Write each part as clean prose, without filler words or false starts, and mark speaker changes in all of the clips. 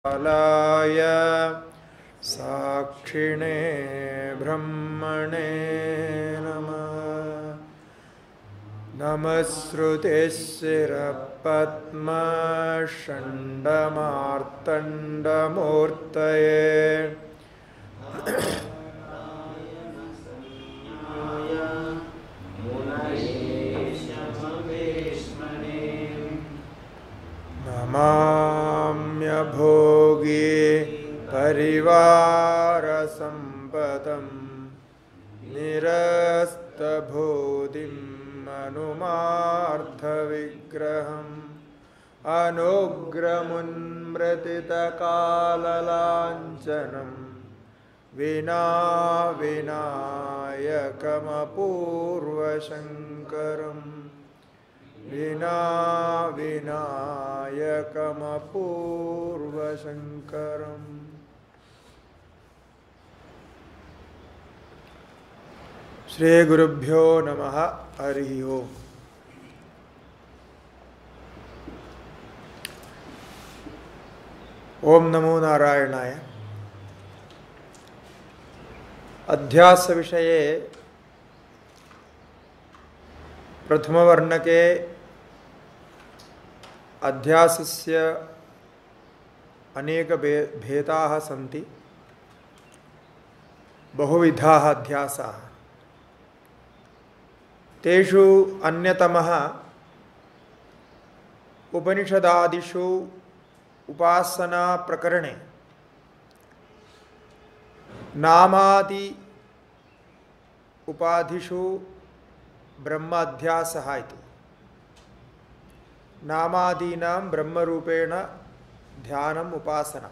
Speaker 1: कालाय साक्षिणे ब्रह्मणे नमः। नमस्कृतिस्सिरपद्मषण्डमार्तण्डमूर्तये नमाम्यभोगी परिवारसम्पदं निरस्तभूतिम् अनुमार्थविग्रहम् अनुग्रमुन्मृतितकाललाञ्छनं विनायकमपूर्वशङ्करम् विनायकमपूर्वशङ्करम्। श्री गुरुभ्यो नमः। हरि ओम्। ओम नमो नारायणाय। अध्यास विषये प्रथमवर्णके अध्यासस्य अनेक भेदाः सन्ति, बहुविधाः अध्यासाः। तेषु अन्यतमः उपनिषदादिषु उपासना प्रकरणे नामादि उपाधिषु ब्रह्माध्यासः इति। नामादीनां ब्रह्मरूपेण ध्यानम् उपासना।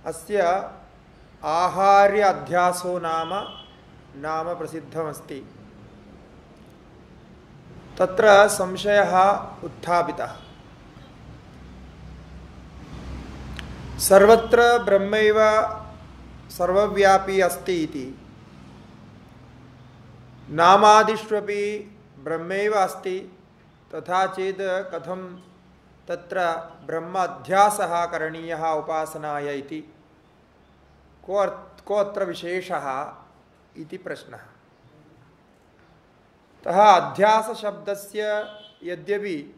Speaker 1: अस्य आहार्य अध्यासो नाम प्रसिद्धमस्ति। तत्र संशयः उत्थापितः। सर्वत्र ब्रह्मैव सर्वव्यापी अस्ति इति, नामादिष्वपि ब्रह्मैव अस्ति, तथा चेत् कथं तत्र ब्रह्म अध्यासः करणीयः उपासनाय इति, को अत्र विशेषः इति प्रश्नः। अतः अध्यासशब्दस्य यद्यपि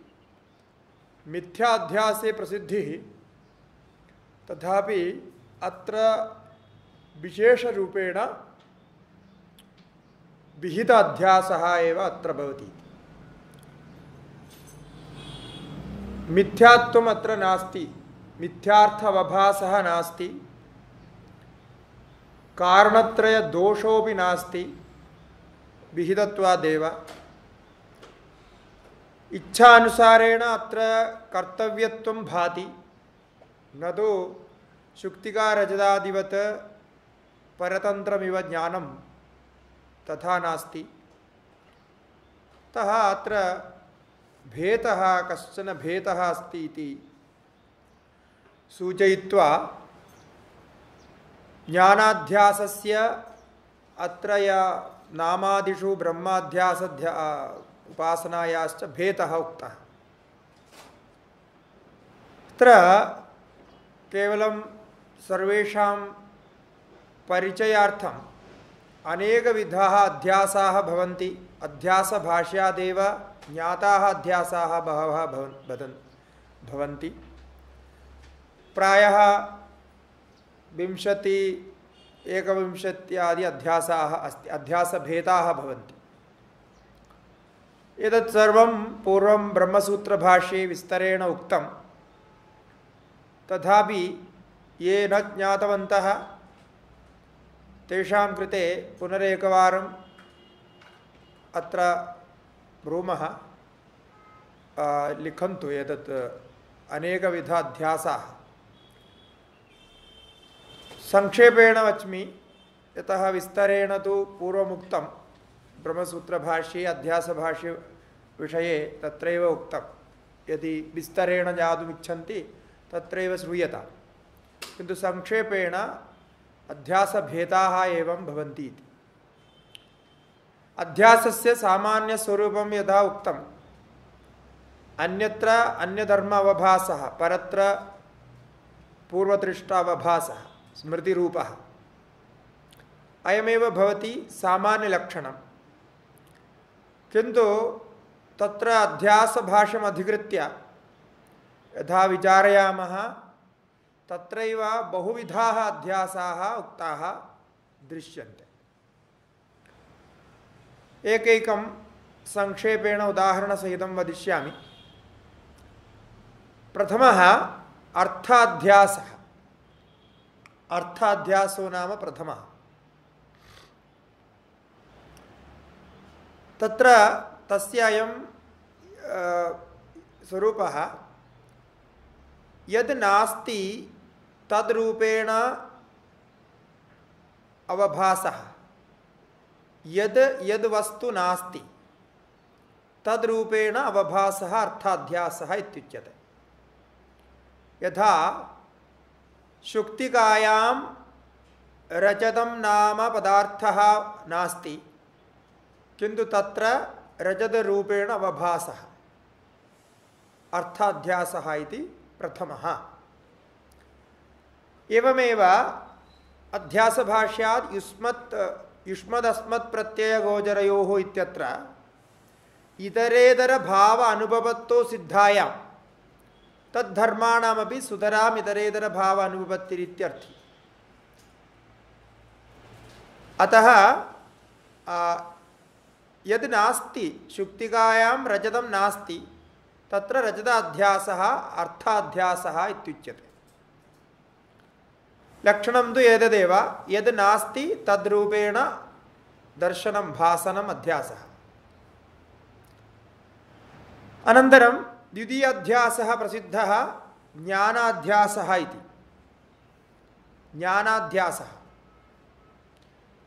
Speaker 1: मिथ्याध्यासे प्रसिद्धिः, तथापि अत्र विशेषरूपेण विहित अध्यासः एव अत्र भवति। मिथ्यात्वम् अत्र नास्ति, मिथ्यार्थवभासः नास्ति, कारणत्रयदोषोऽपि नास्ति विहितत्वादेव। इच्छानुसारेण अत्र कर्तव्यत्वं भाति, न तु शुक्तिकारजदादिवत् परतन्त्रमिव ज्ञानं तथा नास्ति। अतः अत्र भेदः, कश्चन भेदः अस्ति इति सूचयित्वा ज्ञानाध्यासस्य अत्र नामादिषु ब्रह्माध्यास उपासनायाश्च भेदः उक्तः। अत्र केवलं सर्वेषां परिचयार्थम् अनेकविधाः अध्यासाः भवन्ति। अध्यासभाष्यादेव ज्ञाताः अध्यासाः बहवः भवन्ति। प्रायः 20-21 अध्यासाः अस्ति, अध्यासभेदाः भवन्ति। एतत् सर्वं पूर्वं ब्रह्मसूत्रभाष्ये विस्तरेण उक्तं। तथापि ये न ज्ञातवन्तः तेषां कृते पुनरेकवारम् अत्र ब्रूमः। लिखन्तु एतत् अनेकविध अध्यासाः। संक्षेपेण वच्मि, यतः विस्तरेण तु पूर्वमुक्तं ब्रह्मसूत्रभाष्ये अध्यासभाष्य विषये तत्रैव उक्तं। यदि विस्तरेण ज्ञातुमिच्छन्ति तत्रैव श्रूयतां, किन्तु संक्षेपेण अध्यासभेदाः एवं भवन्ति इति। अध्यासस्य सामान्यस्वरूपं यथा उक्तम्, अन्यत्र अन्यधर्म अवभासः, परत्र पूर्वदृष्टावभासः स्मृतिरूपः अयमेव भवति सामान्यलक्षणं। किन्तु तत्र अध्यासभाष्यम् अधिकृत्य यथा विचारयामः तत्रैव बहुविधाः अध्यासाः उक्ताः दृश्यन्ते। एकैकं संक्षेपेण उदाहरणसहितं वदिष्यामि। प्रथमः अर्थाध्यासः। अर्थाध्यासो नाम प्रथमः। तत्र तस्य अयं स्वरूपः यद् नास्ति तद्रूपेण अवभासः, यद् वस्तु नास्ति तद्रूपेण अवभासः अर्थाध्यासः इत्युच्यते। यथा शुक्तिकायां रजतं नाम पदार्थः नास्ति किन्तु तत्र रजतरूपेण अवभासः अर्थाध्यासः इति प्रथमः। एवमेव अध्यासभाष्यात् युष्मदस्मत् प्रत्ययगोचरयोः इत्यत्र इतरेतर भाव अनुभवत्तो सिद्धायां तद्धर्माणामपि सुतराम् इतरेतर भाव अनुभवत्तिरित्यर्थी। अतः यद् नास्ति शुक्तिकायां रजतं नास्ति तत्र रजताध्यासः अर्थाध्यासः इत्युच्यते। लक्षणं तु एतदेव, यद् नास्ति तद्रूपेण दर्शनं भासनम् अध्यासः। अनन्तरं द्वितीयाध्यासः प्रसिद्धः ज्ञानाध्यासः इति। ज्ञानाध्यासः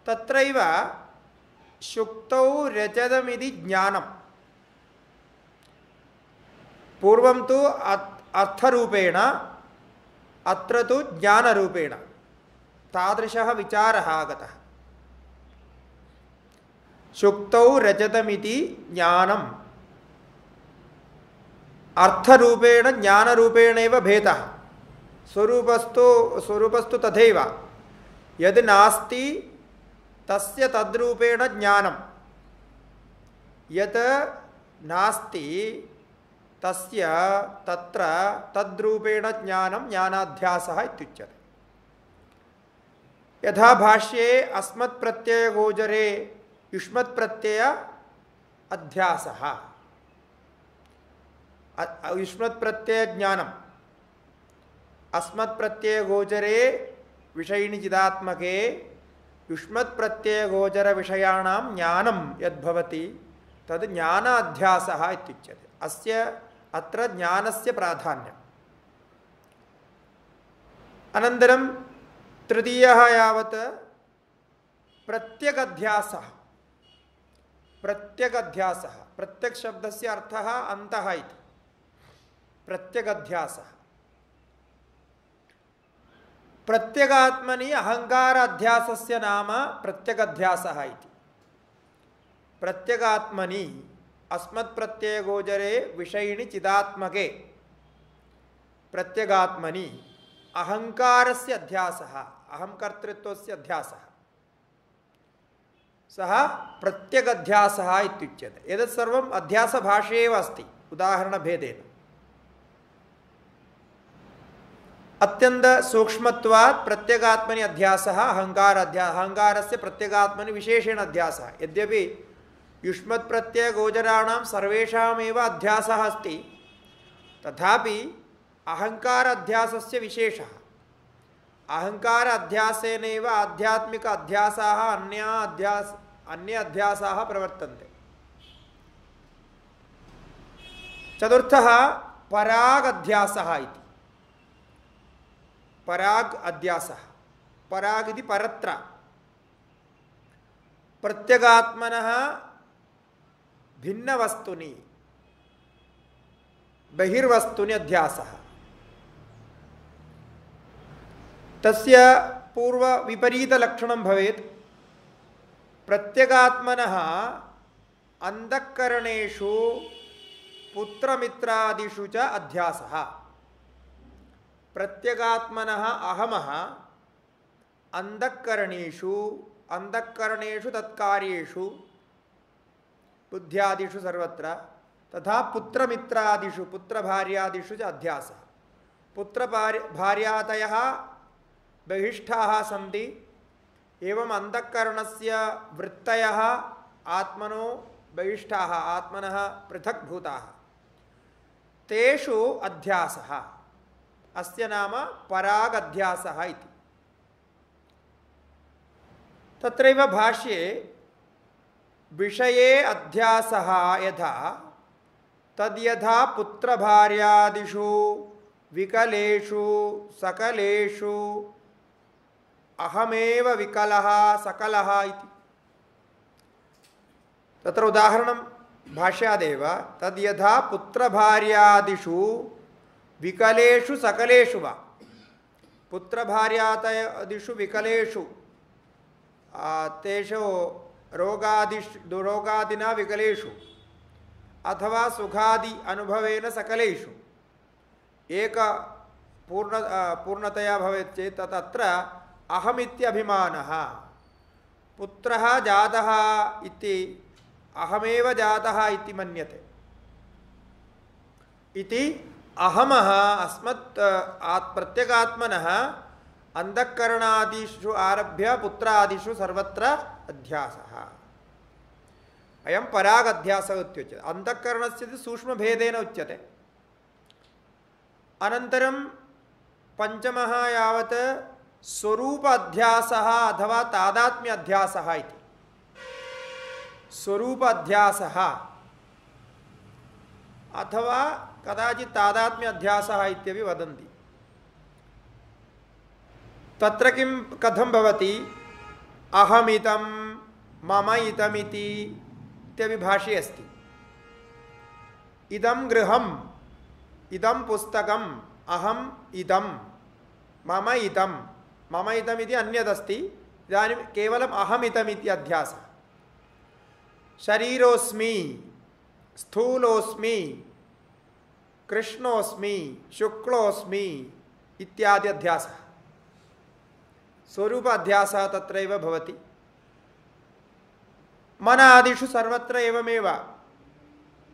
Speaker 1: तत्रैव शुक्तौ रजतमिति ज्ञानं पूर्वं तु अर्थरूपेण अत्र तु ज्ञानरूपेण तादृशः विचारः आगतः। शुक्तौ रजतमिति ज्ञानम् अर्थरूपेण ज्ञानरूपेणैव भेदः। स्वरूपस्तु तथैव, यद् नास्ति तस्य तद्रूपेण ज्ञानं, यत् नास्ति तस्य तत्र तद्रूपेण ज्ञानं ज्ञानाध्यासः इत्युच्यते। यथा भाष्ये अस्मत्प्रत्ययगोचरे युष्मत्प्रत्यय अध्यासः, युष्मत्प्रत्ययज्ञानम् अस्मत्प्रत्ययगोचरे विषयिणिचिदात्मके युष्मत्प्रत्ययगोचरविषयाणां ज्ञानं यद्भवति तद् ज्ञानाध्यासः इत्युच्यते। अस्य अत्र ज्ञानस्य प्राधान्यम्। अनन्तरं तृतीयः यावत् प्रत्यगध्यासः। प्रत्यगध्यासः, प्रत्यक्शब्दस्य अर्थः अन्तः इति। प्रत्यगध्यासः प्रत्यगात्मनि अहङ्काराध्यासस्य नाम प्रत्यगध्यासः इति। प्रत्यगात्मनि अस्मत्प्रत्ययगोचरे विषयिणि चिदात्मके प्रत्यगात्मनि अहङ्कारस्य अध्यासः, अहंकर्तृत्वस्य अध्यासः, सः प्रत्यगध्यासः इत्युच्यते। एतत् सर्वम् अध्यासभाष्ये एव अस्ति उदाहरणभेदेन। अत्यन्तसूक्ष्मत्वात् प्रत्यगात्मनि अध्यासः अहङ्कारस्य प्रत्यगात्मनि विशेषेण अध्यासः। यद्यपि युष्मत्प्रत्ययगोचराणां सर्वेषामेव अध्यासः अस्ति तथापि अहङ्कार अध्यासस्य विशेषः। अहङ्कार अध्यासेनैव आध्यात्मिक अध्यासाः अन्य अध्यासाः प्रवर्तन्ते। चतुर्थः पराग अध्यासः इति। पराग अध्यासः, पराग इति परत्र। प्रत्यगात्मनः भिन्नवस्तुनि बहिर्वस्तुनि अध्यासः। तस्य पूर्व विपरीतलक्षणं भवेत्। प्रत्यगात्मनः अंतःकरणेषु पुत्रमित्रादिषु च अध्यासः। प्रत्यगात्मनः अहमः अंधःकरणेषु तत्कार्येषु बुद्ध्यादिषु सर्वत्र तथा पुत्रमित्रादिषु पुत्रभार्यादिषु च अध्यासः। पुत्रभार्यादयः बहिष्ठाः सन्ति, एवं अंधःकरणस्य वृत्तयः आत्मनो बहिष्ठाः, आत्मनः पृथक्भूताः, तेषु अध्यासः, अस्य नाम परागध्यासः इति। तत्रैव भाष्ये विषये अध्यासः यथा तद्यथा पुत्रभार्यादिषु विकलेषु सकलेषु अहमेव विकलः सकलः इति। तत्र उदाहरणं भाष्यादेव तद्यथा पुत्रभार्यादिषु विकलेषु सकलेषु वा, पुत्रभार्यादिषु विकलेषु तेषु रोगादिना विकलेषु अथवा सुखादि अनुभवेन सकलेषु एक पूर्णतया भवेत् चेत् तत्र अहमित्यभिमानः, पुत्रः जातः इति अहमेव जातः इति मन्यते इति अहमः अस्मत् प्रत्यगात्मनः अंधःकरणादिषु आरभ्य पुत्रादिषु सर्वत्र अध्यासः। अयं परागध्यासः उच्यते। अंधःकरणस्य सूक्ष्मभेदेन उच्यते। अनन्तरं पंचमः यावत् स्वरूप अध्यासः अथवा तादात्म्य अध्यासः इति। स्वरूप अध्यासः अथवा कदाचित् तादात्म्य अध्यासः इत्यपि वदन्ति। तत्र किं कथं भवति, अहमिदं मम इदमिति इत्यपि भाष्ये अस्ति। इदं गृहम् इदं पुस्तकम् अहम् इदं मम इदमिति अन्यदस्ति। इदानीं केवलम् अहमिदमिति अध्यासः। शरीरोऽस्मि, स्थूलोऽस्मि, कृष्णोऽस्मि, शुक्लोऽस्मि इत्यादि अध्यासः। स्वरूप अध्यासः तत्रैव भवति। मनादिषु सर्वत्र एवमेव।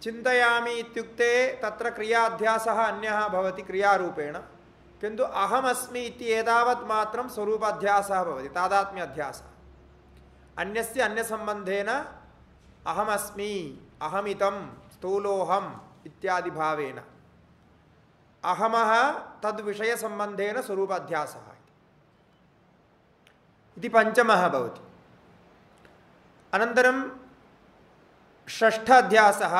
Speaker 1: चिन्तयामि इत्युक्ते तत्र क्रियाध्यासः अन्यः भवति क्रियारूपेण, किन्तु अहमस्मि इति एतावत् मात्रं स्वरूपाध्यासः भवति, तादात्म्य अध्यासः। अन्यस्य अन्यसम्बन्धेन अहमस्मि, अहमिदं, स्थूलोऽहम् इत्यादि भावेन अहमः तद्विषयसम्बन्धेन स्वरूपाध्यासः इति पंचमः भवति। अनन्तरं षष्ठ अध्यासः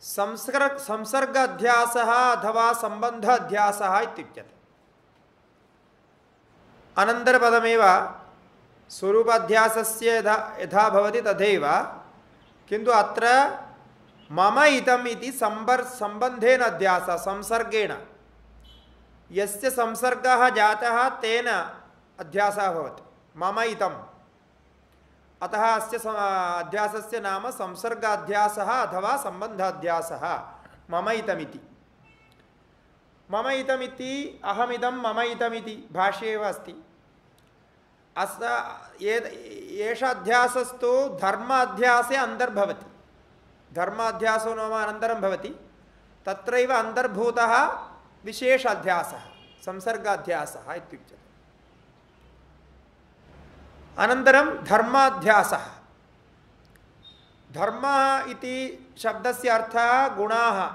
Speaker 1: संसर्ग अध्यासः अथवा संबंध अध्यासः इत्युच्यते। अनन्तरपदमेव स्वरूपाध्यासस्य यथा भवति तथैव, किन्तु अत्र मम इदम् इति संबंधेन अध्यासः, संसर्गेण यस्य संसर्गः जातः तेन अध्यासः भवति, मम इदम्। अतः अस्य अध्यासस्य नाम संसर्गाध्यासः अथवा संबंधाध्यासः मम इदमिति। मम इदमिति अहमिदं मम इदमिति भाष्ये एव अस्ति। एष अध्यासस्तु धर्म अध्यासे अन्तर्भवति। धर्माध्यासो नाम अनन्तरं भवति, तत्रैव अन्तर्भूतः विशेष अध्यासः, संसर्गाध्यासः इत्युच्यते। अनन्तरं धर्माध्यासः। धर्म इति शब्दस्य अर्थः गुणाः,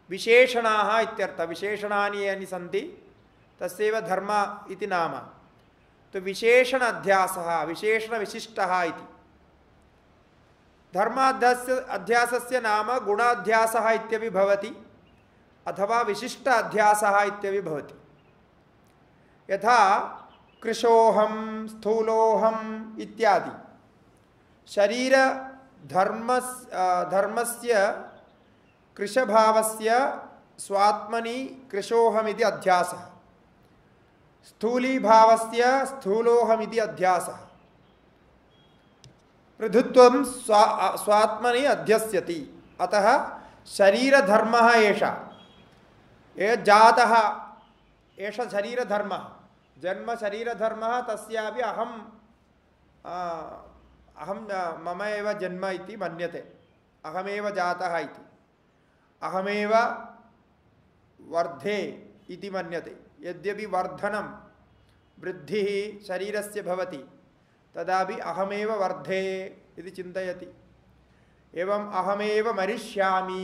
Speaker 1: विशेषणाः इत्यर्थः। विशेषणानि यानि सन्ति तस्यैव धर्म इति नाम। तो विशेषण अध्यासः, विशेषणविशिष्टः इति। धर्माध्यासस्य नाम गुणाध्यासः इत्यपि भवति अथवा विशिष्ट अध्यासः इत्यपि भवति। यथा कृशोऽहं, स्थूलोऽहम् इत्यादि शरीर धर्मस्य कृशभावस्य स्वात्मनि कृशोऽहमिति अध्यासः, स्थूलीभावस्य स्थूलोऽहमिति अध्यासः। पृथुत्वं स्वात्मनि अध्यस्यति। अतः शरीरधर्मः एषः। ये जातः एष शरीरधर्मः जन्म शरीरधर्मः तस्यापि अहं मम एव जन्म इति मन्यते अहमेव जातः इति अहमेव वर्धे इति मन्यते यद्यपि वर्धनं वृद्धिः शरीरस्य भवति तदापि अहमेव वर्धे इति चिन्तयति एवम् अहमेव मरिष्यामि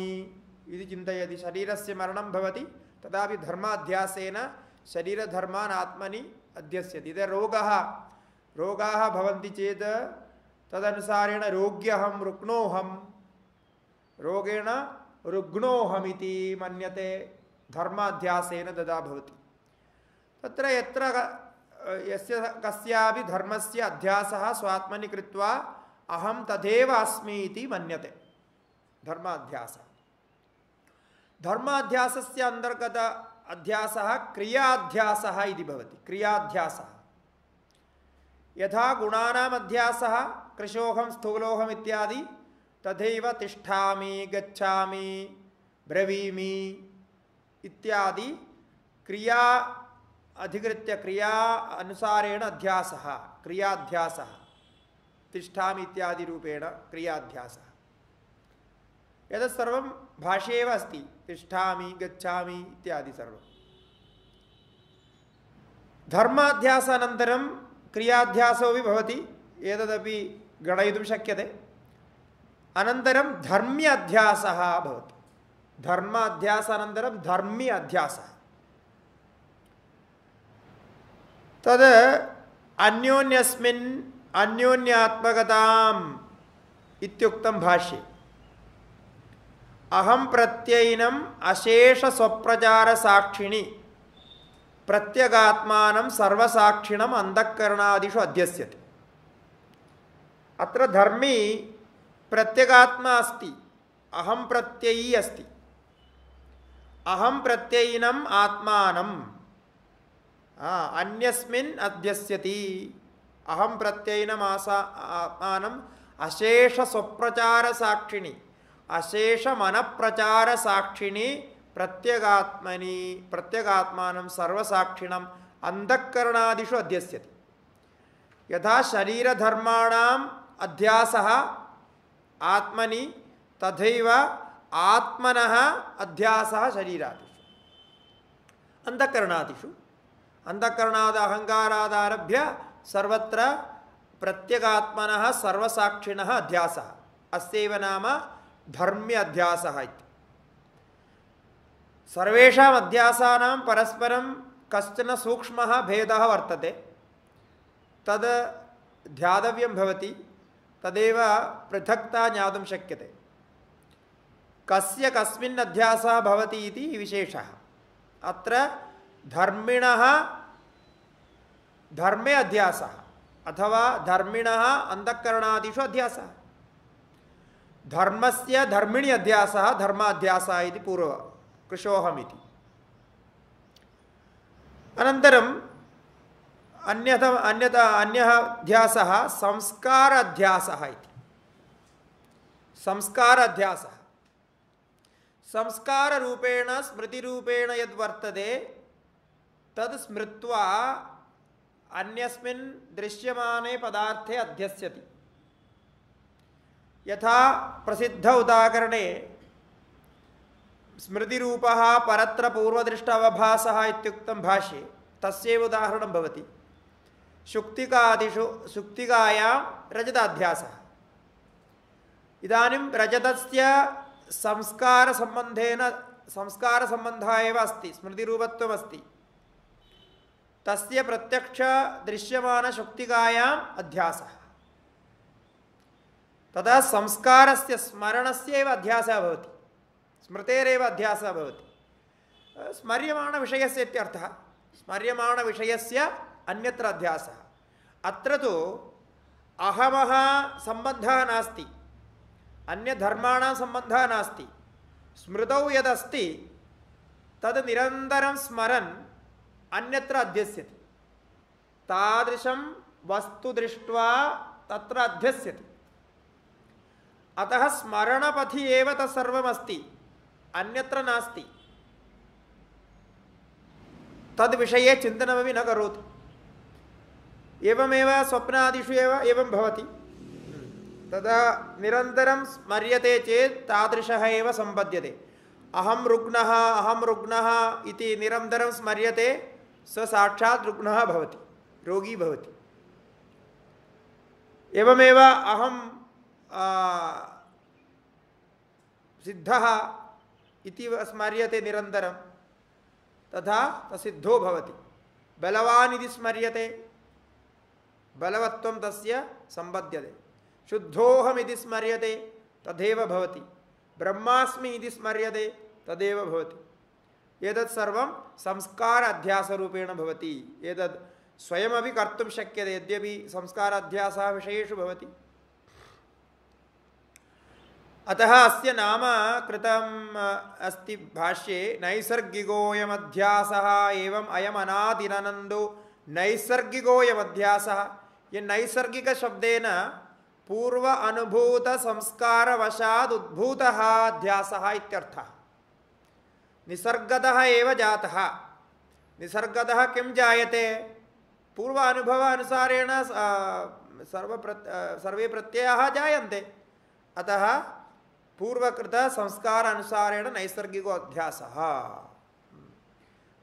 Speaker 1: इति चिन्तयति शरीरस्य मरणं भवति तदापि धर्माध्यासेन शरीरधर्मान् आत्मनि अध्यस्यति इति रोगाः भवन्ति चेत् तदनुसारेण रोग्यहं रुग्णोऽहं रोगेण रुग्णोऽहमिति मन्यते धर्माध्यासेन तदा भवति तत्र यत्र यस्य कस्यापि धर्मस्य अध्यासः स्वात्मनि कृत्वा अहं तथैव अस्मि इति मन्यते धर्माध्यासस्य अन्तर्गत अध्यासः क्रियाध्यासः इति भवति क्रियाध्यासः यथा गुणानाम् अध्यासः कृशोऽहं स्थूलोऽहम् इत्यादि तथैव तिष्ठामि गच्छामि ब्रवीमि इत्यादि क्रिया अधिकृत्य क्रिया अनुसारेण अध्यासः क्रियाध्यासः तिष्ठामि इत्यादि रूपेण क्रियाध्यासः एतत् सर्वं भाष्ये एव अस्ति तिष्ठामि गच्छामि इत्यादि सर्वं धर्माध्यासानन्तरं क्रियाध्यासोऽपि भवति एतदपि गणयितुं शक्यते अनन्तरं धर्म्याध्यासः भवति धर्माध्यासानन्तरं धर्मी अध्यासः तद् अन्योन्यस्मिन् अन्योन्यात्मकताम् इत्युक्तं भाष्ये अहं प्रत्ययिनम् अशेष स्वप्रचार साक्षिणि प्रत्यगात्मानं सर्वसाक्षिणम् अंतःकरणादिषु अध्यस्यते अत्र धर्मी प्रत्यगात्मा अस्ति अहं प्रत्ययी अस्ति अहं प्रत्ययिनम् आत्मानम् अन्यस्मिन् अध्यस्यति अहं प्रत्ययिनम् आत्मानम् अशेष स्वप्रचार साक्षिणि अशेष मनप्रचार साक्षिणि प्रत्यगात्मानं सर्वसाक्षिणम् अंतःकरणादिषु अध्यस्यति यथा शरीरधर्माणाम् अध्यासः आत्मनि तथैव आत्मनः अध्यासः शरीरादिषु अंतःकरणादिषु अंतःकरणाद् अहंकारादारभ्य सर्वत्र प्रत्यगात्मनः सर्वसाक्षिणः अध्यासः अस्यैव नाम धर्म्य अध्यासः इति सर्वेषाम् अध्यासानां परस्परं कश्चन सूक्ष्मः भेदः वर्तते तद् ध्यातव्यं भवति तदेव पृथक्ता ज्ञातुं शक्यते कस्य कस्मिन् अध्यासः भवति इति विशेषः अत्र धर्मिणः धर्मे अध्यासः अथवा धर्मिणः अंतःकरणादिषु अध्यासः धर्मस्य धर्मिणि अध्यासः धर्माध्यासः इति पूर्व कृशोऽहमिति अनन्तरं अन्यः अध्यासः संस्कार अध्यासः इति संस्कार अध्यासः संस्कार रूपेण स्मृति रूपेण यद् वर्तते तद् स्मृत्वा अन्यस्मिन् दृश्यमाने पदार्थे अध्यस्यति यथा प्रसिद्ध उदाहरणे स्मृतिरूपः परत्र पूर्वदृष्ट अवभासः इत्युक्तं भाष्ये तस्यैव उदाहरणं भवति शुक्तिकायां रजताध्यासः इदानीं रजतस्य संस्कारसम्बन्धः एव अस्ति स्मृतिरूपत्वम् अस्ति तस्य प्रत्यक्ष दृश्यमान शुक्तिकायाम् अध्यासः तदा संस्कारस्य स्मरणस्य एव अध्यासः भवति स्मृतेरेव अध्यासः भवति स्मर्यमाणविषयस्य इत्यर्थः स्मर्यमाणविषयस्य अन्यत्र अध्यासः अत्र तु अहमः सम्बन्धः नास्ति अन्यधर्माणां सम्बन्धः नास्ति स्मृतौ यदस्ति तद् निरन्तरं स्मरन् अन्यत्र अध्यस्यति तादृशं वस्तु दृष्ट्वा तत्र अध्यस्यति अतः स्मरणपथि एव तत्सर्वमस्ति अन्यत्र नास्ति तद्विषये चिन्तनमपि न करोति। एवमेव स्वप्नादिषु एव एवं भवति। तदा निरन्तरं स्मर्यते चेत् तादृशः एव सम्पद्यते। अहं रुग्णः इति निरन्तरं स्मर्यते, स साक्षात् रुग्णः भवति, रोगी भवति। एवमेव अहं सिद्धः इति स्मर्यते निरन्तरं, तथा सिद्धो भवति। बलवान् इति स्मर्यते, बलवत्वं तस्य सम्पद्यते। शुद्धोऽहमिति स्मर्यते, तथैव भवति। ब्रह्मास्मि इति स्मर्यते, तदेव भवति। एतत् सर्वं संस्कार अध्यासरूपेण भवति। एतत् स्वयमपि कर्तुं शक्यते, यद्यपि संस्कार अध्यासः विषयेषु भवति। अतः अस्य नाम कृतम् अस्ति भाष्ये, नैसर्गिकोऽयमध्यासः एवम् अयम् अनादिरनन्दो नैसर्गिकोऽयमध्यासः। ये नैसर्गिकशब्देन पूर्व अनुभूत संस्कारवशात् उद्भूतः अध्यासः इत्यर्थः। निसर्गतः एव जातः। निसर्गतः किं जायते? पूर्व अनुभव अनुसारेण सर्वे प्रत्ययाः जायन्ते। अतः पूर्वकृत संस्कार अनुसारेण नैसर्गिको अध्यासः।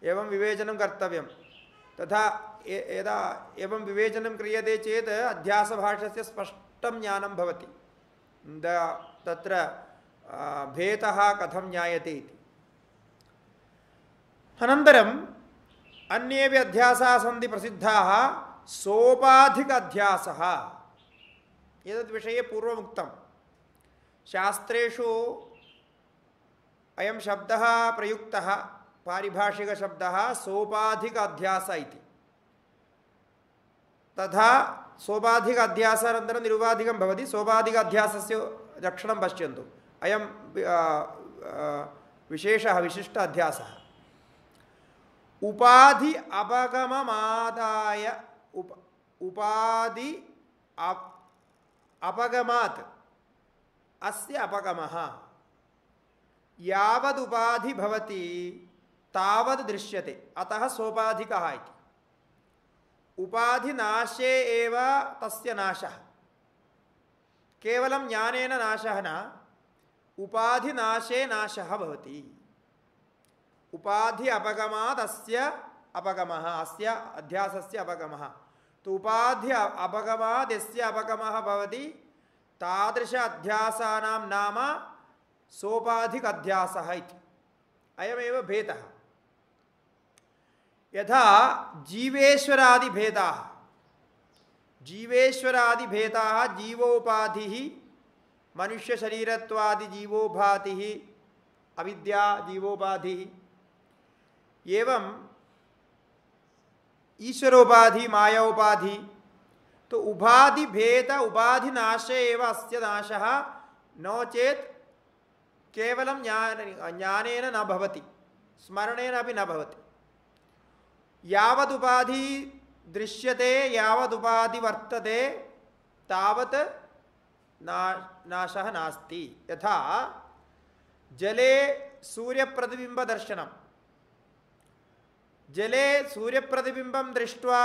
Speaker 1: एवं विवेचनं कर्तव्यं। तथा यदा एवं विवेचनं क्रियते चेत् अध्यासभाष्यस्य स्पष्टं ज्ञानं भवति। तत्र भेदः कथं ज्ञायते इति। अनन्तरम् अन्येपि अध्यासाः सन्ति प्रसिद्धाः। सोपाधिक अध्यासः, एतद्विषये पूर्वमुक्तं। शास्त्रेषु अयं शब्दः प्रयुक्तः, पारिभाषिकशब्दः सोपाधिक अध्यास इति। तथा सोपाधिक अध्यासानन्तरं निरुपाधिकं भवति। सोपाधिक अध्यासस्य लक्षणं पश्यन्तु। अयं विशेषः विशिष्ट अध्यासः। उपाधि अपगममादाय उपाधि अपगमात् अस्य अपगमः यावदुपाधि भवति तावद् दृश्यते, अतः सोपाधिकः इति। उपाधिनाशे एव तस्य नाशः। केवलं ज्ञानेन नाशः न, उपाधिनाशे नाशः भवति। उपाधि अपगमात् अस्य अपगमः, अस्य अध्यासस्य अपगमः। तो उपाधि अपगमात् यस्य अपगमः भवति तादृश अध्यासानां नाम सोपाधिक अध्यासः इति। अयमेव भेदः। यथा जीवेश्वरादिभेदाः, जीवेश्वरादिभेदाः जीवोपाधिः, मनुष्यशरीरत्वादि जीवोपाधिः, अविद्या जीवोपाधिः, एवं ईश्वरोपाधि मायोपाधि। तो उपाधि भेद उपाधि नाशे एव अस्य नाशः, नो चेत् केवलं ज्ञानेन न भवति, स्मरणेन अपि न भवति। यावदुपाधि दृश्यते, यावदुपाधि वर्तते, तावत् नाशः नास्ति। यथा जले सूर्यप्रतिबिम्बदर्शनं। जले सूर्यप्रतिबिम्बं दृष्ट्वा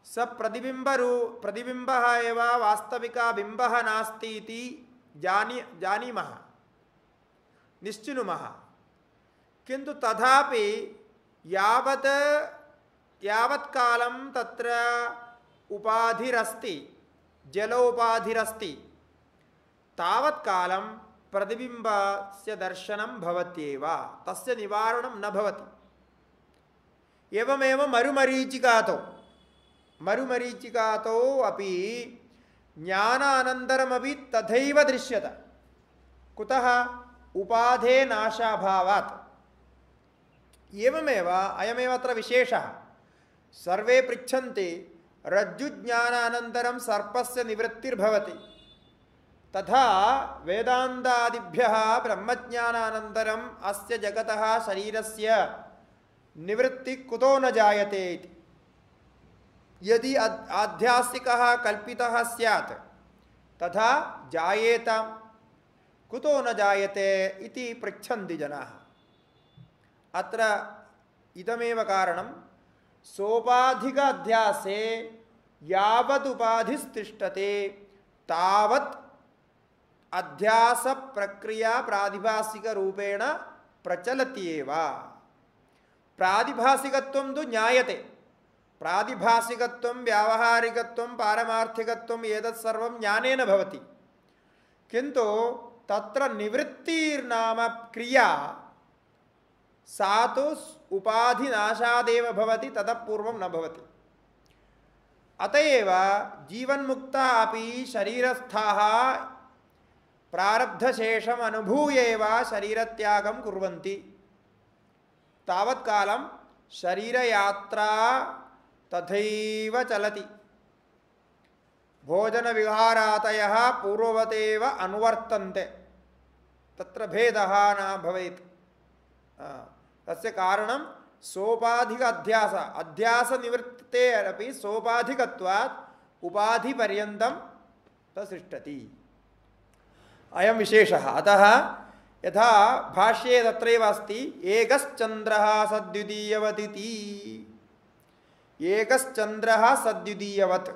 Speaker 1: स प्रतिबिम्बः एव वास्तविका बिम्बः नास्ति इति जानीमः, निश्चिनुमः। किन्तु तथापि यावत्कालं तत्र उपाधिरस्ति, जलोपाधिरस्ति, तावत्कालं प्रतिबिम्बस्य दर्शनं भवत्येव, तस्य निवारणं न भवति। एवमेव मरुमरीचिकातो अपि ज्ञानानन्तरमपि तथैव दृश्यते। कुतः? उपाधे नाशाभावात्। एवमेव अयमेव अत्र विशेषः। सर्वे पृच्छन्ति रज्जुज्ञानानन्तरं सर्पस्य निवृत्तिर्भवति, तथा वेदान्तादिभ्यः ब्रह्मज्ञानानन्तरम् अस्य जगतः शरीरस्य निवृत्ति कुतो न जायते इति। यदि आध्यात्मिकः कल्पितः स्यात् तथा जायेतां, कुतो न जायते इति पृच्छन्ति जनाः। अत्र इदमेव कारणं सोपाधिक अध्यासे यावत् उपाधिस्तिष्ठते तावत् अध्यास प्रक्रिया प्रातिभासिक रूपेण प्रचलति एव। प्रातिभासिकत्वं तु ज्ञायते, प्रातिभासिकत्वं व्यावहारिकत्वं पारमार्थिकत्वं एतत् सर्वं ज्ञानेन भवति, किन्तु तत्र निवृत्तिर्नाम क्रिया सा तु उपाधिनाशादेव भवति, ततः पूर्वं न भवति। अतएव जीवन्मुक्ता अपि शरीरस्थाः प्रारब्धशेषम् अनुभूय एव शरीरत्यागं कुर्वन्ति। तावत्कालं शरीरयात्रा तथैव चलति। भोजनविहारादयः पूर्ववतेव अनुवर्तन्ते, तत्र भेदः न भवेत्। तस्य कारणं सोपाधिक अध्यास, अध्यास निवृत्ते अपि सोपाधिकत्वात् उपाधिपर्यन्तं ततिष्ठति। अयं विशेषः। अतः यथा भाष्ये तत्रैव अस्ति एकश्चन्द्रः सद्वितीयवत् इति। एकश्चन्द्रः सद्वितीयवत्,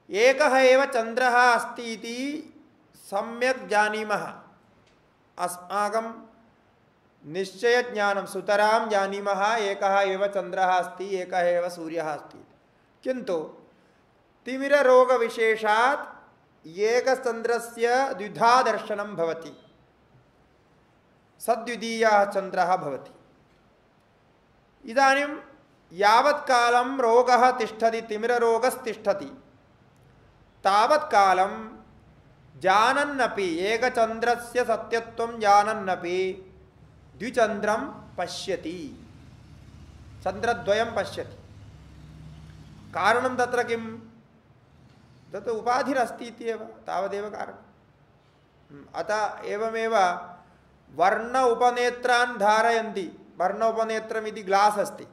Speaker 1: एकः एव चन्द्रः अस्ति इति सम्यक् जानीमः। अस्माकं निश्चयज्ञानं सुतरां जानीमः एकः एव चन्द्रः अस्ति, एकः एव सूर्यः अस्ति। किन्तु तिमिररोगविशेषात् एकचन्द्रस्य द्विधा दर्शनं भवति, सद्वितीयः चन्द्रः भवति। इदानीं यावत्कालं रोगः तिष्ठति, तिमिररोगस्तिष्ठति, तावत्कालं जानन्नपि एकचन्द्रस्य सत्यत्वं जानन्नपि द्विचन्द्रं पश्यति, चन्द्रद्वयं पश्यति। कारणं तत्र किं? तत् उपाधिरस्ति इत्येव, तावदेव कारणम्। अतः एवमेव वर्ण उपनेत्रान् धारयन्ति। वर्ण उपनेत्रमिति ग्लास् अस्ति,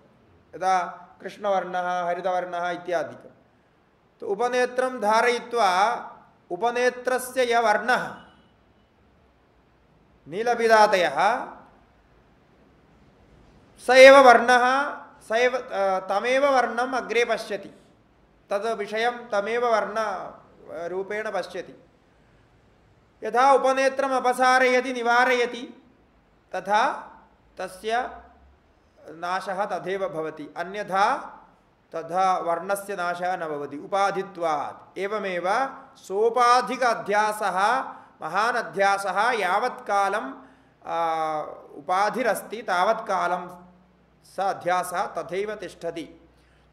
Speaker 1: यदा कृष्णवर्णः हरितवर्णः इत्यादिकं। तो उपनेत्रं धारयित्वा उपनेत्रस्य यः वर्णः नीलपिदातयः स एव वर्णः, स एव तमेव वर्णम् अग्रे पश्यति, तद् विषयं तमेव वर्णरूपेण पश्यति। यथा उपनेत्रम् अपसारयति निवारयति तथा तस्य नाशः तथैव भवति, अन्यथा तथा वर्णस्य नाशः न भवति उपाधित्वात्। एवमेव सोपाधिक अध्यासः महान् अध्यासः यावत्कालं उपाधिरस्ति तावत्कालं स अध्यासः तथैव तिष्ठति।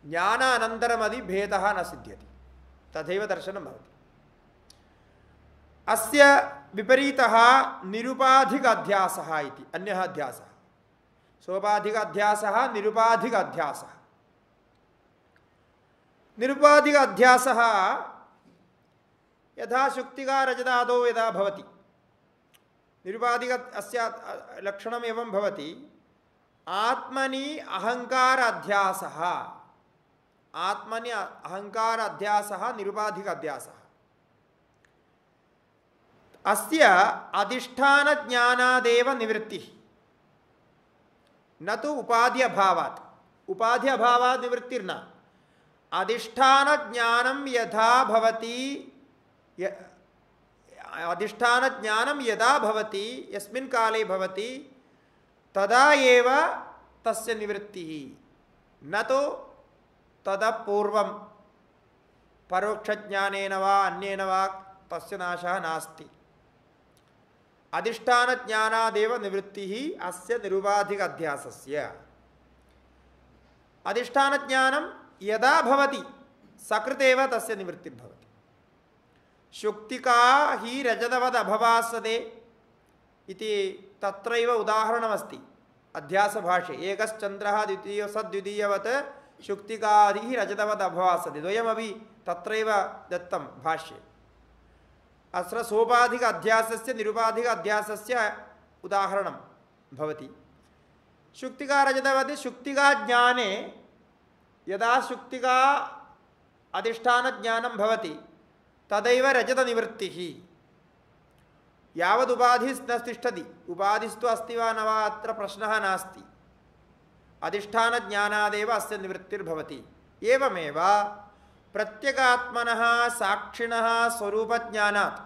Speaker 1: ज्ञानानन्तरमपि भेदः न सिद्ध्यति, तथैव दर्शनं भवति। अस्य विपरीतः निरुपाधिक अध्यासः इति अन्यः अध्यासः। सोपाधिक अध्यासः निरुपाधिक अध्यासः। निरुपाधिक अध्यासः यथा शुक्तिका रजतादौ यदा भवति, निरुपाधिक अस्य लक्षणम् एवं भवति। आत्मनि अहंकार अध्यासः, आत्मनि अहंकार अध्यासः निरुपाधिक अध्यासः। अस्य अधिष्ठान ज्ञानादेव निवृत्तिः, न तु उपाधि अभावात्। उपाधि अभावात् निवृत्तिर्न, अधिष्ठान ज्ञानं यथा भवति, अधिष्ठान ज्ञानं यदा भवति, यस्मिन् काले भवति, तदा एव तस्य निवृत्तिः, न तो तदा पूर्वं परोक्षज्ञानेन वा अन्येन वा तस्य नाशः नास्ति। अधिष्ठान ज्ञानादेव निवृत्तिः अस्य निरुपाधिक अध्यासस्य। अधिष्ठान ज्ञानं यदा भवति सकृतेव तस्य निवृत्तिर्भवति। शुक्तिका हि रजतवद् अभवासते इति तत्रैव उदाहरणमस्ति अध्यासभाष्ये। एकश्चन्द्रः द्वितीयो सद्वितीयवत् शुक्तिकादिः रजतवद् अभवासते, द्वयमपि तत्रैव दत्तं भाष्ये। अत्र सोपाधिक अध्यासस्य निरुपाधिक अध्यासस्य उदाहरणं भवति। शुक्तिका रजतवत् शुक्तिका ज्ञाने यदा शुक्तिका अधिष्ठान ज्ञानं भवति तदैव रजत निवृत्तिः। यावद् उपाधिः न तिष्ठति, उपाधिस्तु अस्ति वा न वा अत्र प्रश्नः नास्ति। अधिष्ठानज्ञानादेव अस्य निवृत्तिर्भवति। एवमेव प्रत्यगात्मनः साक्षिणः स्वरूपज्ञानात्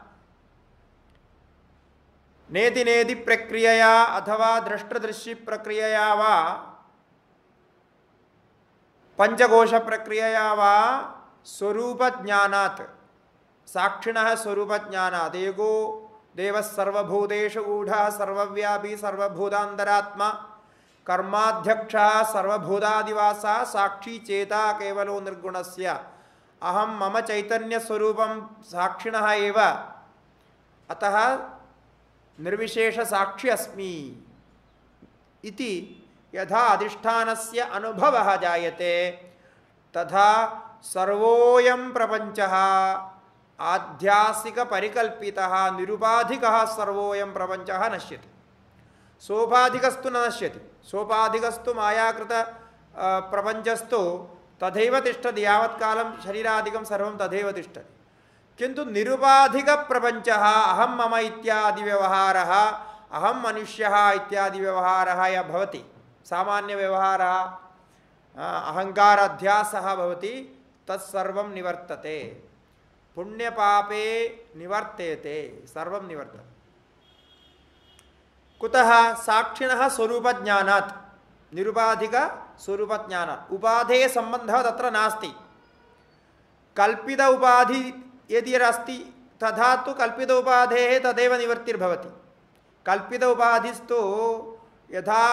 Speaker 1: नेति नेति प्रक्रियया अथवा दृष्टदृश्य प्रक्रियया वा पंचकोश प्रक्रियया वा स्वरूपज्ञानात् साक्षिणः स्वरूपज्ञानात् एको देवः सर्वभूतेषु गूढः सर्वव्यापी सर्वभूतान्तरात्मा कर्माध्यक्षः सर्वभूतादिवासः साक्षी चेता केवलो निर्गुणस्य अहं मम चैतन्य स्वरूपं साक्षिणः एव अतः निर्विशेष साक्षी अस्मि इति यथा अधिष्ठानस्य अनुभवः जायते तथा सर्वोऽयं प्रपञ्चः आध्यासिक परिकल्पितः निरुपाधिकः सर्वोऽयं प्रपञ्चः नश्यति। सोपाधिकस्तु न नश्यति। सोपाधिकस्तु मायाकृत प्रपञ्चस्तु तथैव तिष्ठति यावत् कालं शरीरादिकं सर्वं तथैव तिष्ठति। किन्तु निरुपाधिक प्रपञ्चः अहं मम इत्यादि व्यवहारः अहं मनुष्यः इत्यादि व्यवहारः यः भवति सामान्य व्यवहारः अहंकार अध्यासः भवति तत्सर्वं निवर्तते। पुण्यपापे निवर्तेते सर्वं निवर्तते। कुतः साक्षिणः स्वरूपज्ञानात् निरुपाधिक स्वरूपज्ञानात् उपाधेः सम्बन्धः तत्र नास्ति। कल्पित उपाधि यदि अस्ति तथा तु कल्पित उपाधेः तदेव निवृत्तिर्भवति। कल्पित उपाधिस्तु यथा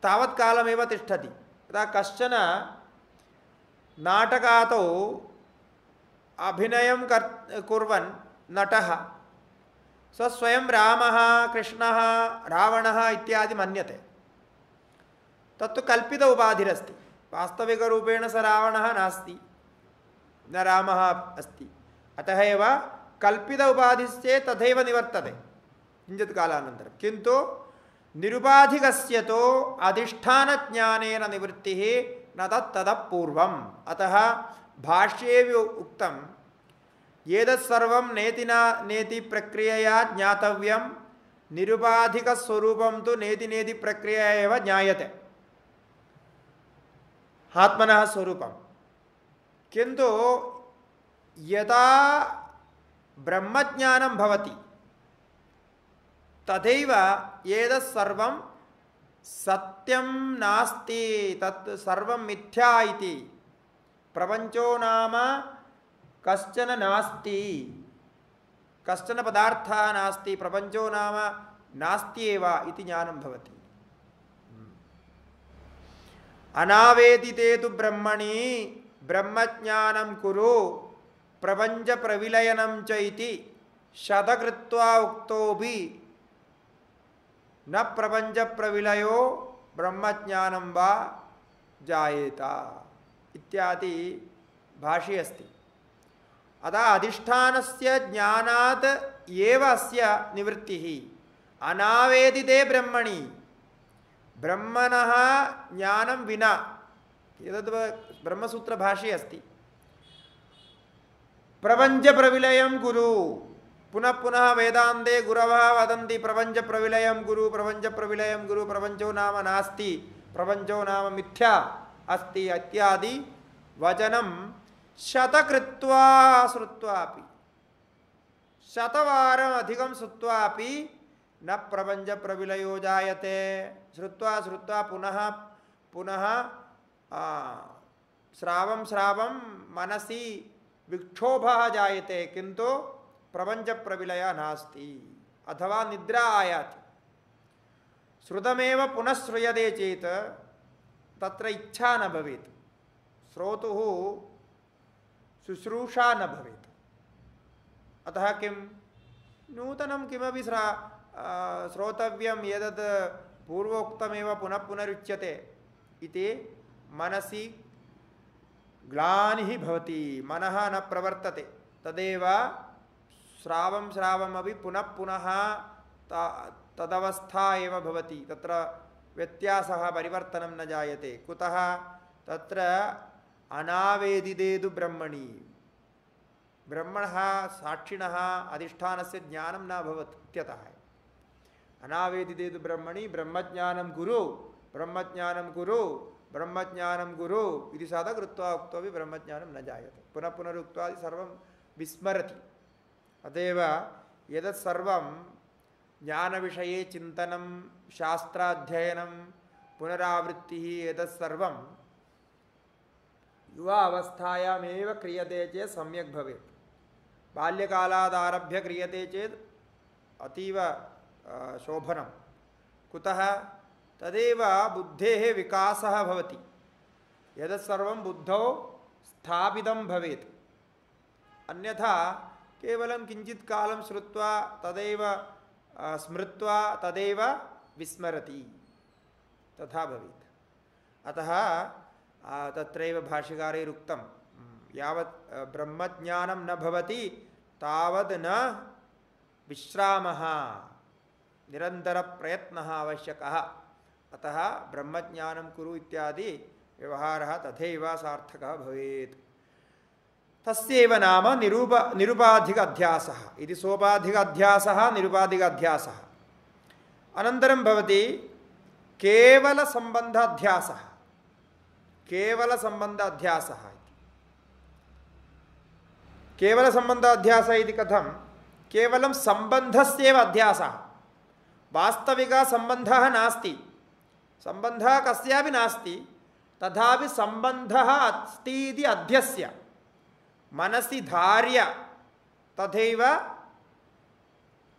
Speaker 1: तावत् कालमेव तिष्ठति। यदा कश्चन नाटकातौ अभिनयं कुर्वन् नटः स स्वयं रामः कृष्णः रावणः इत्यादि मन्यते। तत्तु कल्पित उपाधिरस्ति। वास्तविकरूपेण स रावणः नास्ति न रामः अस्ति। अतः एव कल्पित उपाधिश्चेत् तथैव निवर्तते किञ्चित् कालानन्तरं। किन्तु निरुपाधिकस्य तु अधिष्ठानज्ञानेन निवृत्तिः न तत्ततः पूर्वम्। अतः भाष्ये उक्तं एतत्सर्वं नेतिना नेति प्रक्रियया ज्ञातव्यं निरुपाधिकस्वरूपं तु नेति नेति प्रक्रिया एव ज्ञायते आत्मनः स्वरूपं। किन्तु यदा ब्रह्मज्ञानं भवति तथैव एतत्सर्वं सत्यं नास्ति तत् सर्वं मिथ्या इति प्रपञ्चो नाम कश्चन नास्ति कश्चन पदार्थः नास्ति प्रपञ्चो नाम नास्ति एव इति ज्ञानं भवति। अनावेदिते तु ब्रह्मणि ब्रह्मज्ञानं कुरु प्रपञ्च प्रविलयनं च इति शतकृत्वा उक्तोऽपि न प्रपञ्च प्रविलयो ब्रह्मज्ञानं वा जायेत इत्यादि भाष्ये अस्ति। अतः अधिष्ठानस्य ज्ञानात् एव अस्य निवृत्तिः। अनावेदिते ब्रह्मणि ब्रह्मणः ज्ञानं विना एतद् ब्रह्मसूत्रभाष्ये अस्ति। प्रपञ्च प्रविलयं कुरु पुनः पुनः वेदान्ते गुरवः वदन्ति प्रपञ्च प्रविलयं कुरु प्रपञ्च प्रविलयं कुरु प्रपञ्चो नाम नास्ति प्रपञ्चो नाम मिथ्या अस्ति इत्यादि वचनं शतकृत्वा श्रुत्वापि शतवारम् अधिकं श्रुत्वापि न प्रपञ्च प्रविलयो जायते। श्रुत्वा श्रुत्वा पुनः पुनः श्रावं मनसि विक्षोभः जायते किन्तु प्रपञ्च प्रविलय नास्ति अथवा निद्रा आयाति। श्रुतमेव पुनः श्रूयते चेत् तत्र इच्छा न भवेत् श्रोतुः शुश्रूषा न भवेत्। अतः किं नूतनं किमपि श्रोतव्यं यदत् पूर्वोक्तमेव पुनः पुनरुच्यते इति मनसि ग्लानिः भवति मनः न प्रवर्तते। तदेव श्रावमपि पुनः पुनः तदवस्था एव भवति तत्र व्यत्यासः परिवर्तनं न जायते। कुतः तत्र अनावेदिते तु ब्रह्मणि ब्रह्मणः साक्षिणः अधिष्ठानस्य ज्ञानं न भवति इत्यतः अनावेदिते तु ब्रह्मणि ब्रह्मज्ञानं कुरु ब्रह्मज्ञानं कुरु ब्रह्मज्ञानं कुरु इति सदा कृत्वा उक्त्वापि ब्रह्मज्ञानं न जायते। पुनः पुनरुक्त्वा सर्वं विस्मरति। अतएव एतत् सर्वं ज्ञानविषये चिन्तनं शास्त्राध्ययनं पुनरावृत्तिः एतत् सर्वं युवा अवस्थायामेव क्रियते चेत् सम्यक् भवेत्। बाल्यकालादारभ्य क्रियते चेत् अतीव शोभनं। कुतः? तदेव बुद्धेः विकासः भवति। एतत् सर्वं बुद्धौ स्थापितं भवेत्। अन्यथा केवलं किञ्चित् कालं श्रुत्वा तदेव स्मृत्वा तदेव विस्मरति, तथा भवेत्। अतः तत्रैव भाष्यकारैरुक्तं यावत् ब्रह्मज्ञानं न भवति तावद् न विश्रामः, निरन्तरप्रयत्नः आवश्यकः। अतः ब्रह्मज्ञानं कुरु इत्यादि व्यवहारः तथैव सार्थकः भवेत्। तस्यैव नाम निरुपाधिक अध्यासः इति। सोपाधिक अध्यासः निरुपाधिक अध्यासः। अनन्तरं भवति केवल संबंध अध्यासः। केवल संबंध अध्यासः इति। केवल संबंध अध्यासः इति कथं? केवलं संबंधस्यैव अध्यासः। वास्तविक संबंधः नास्ति, संबंधः कस्यापि नास्ति, तथापि संबंधः अस्ति इति अध्यस्य मनसि धार्य तथैव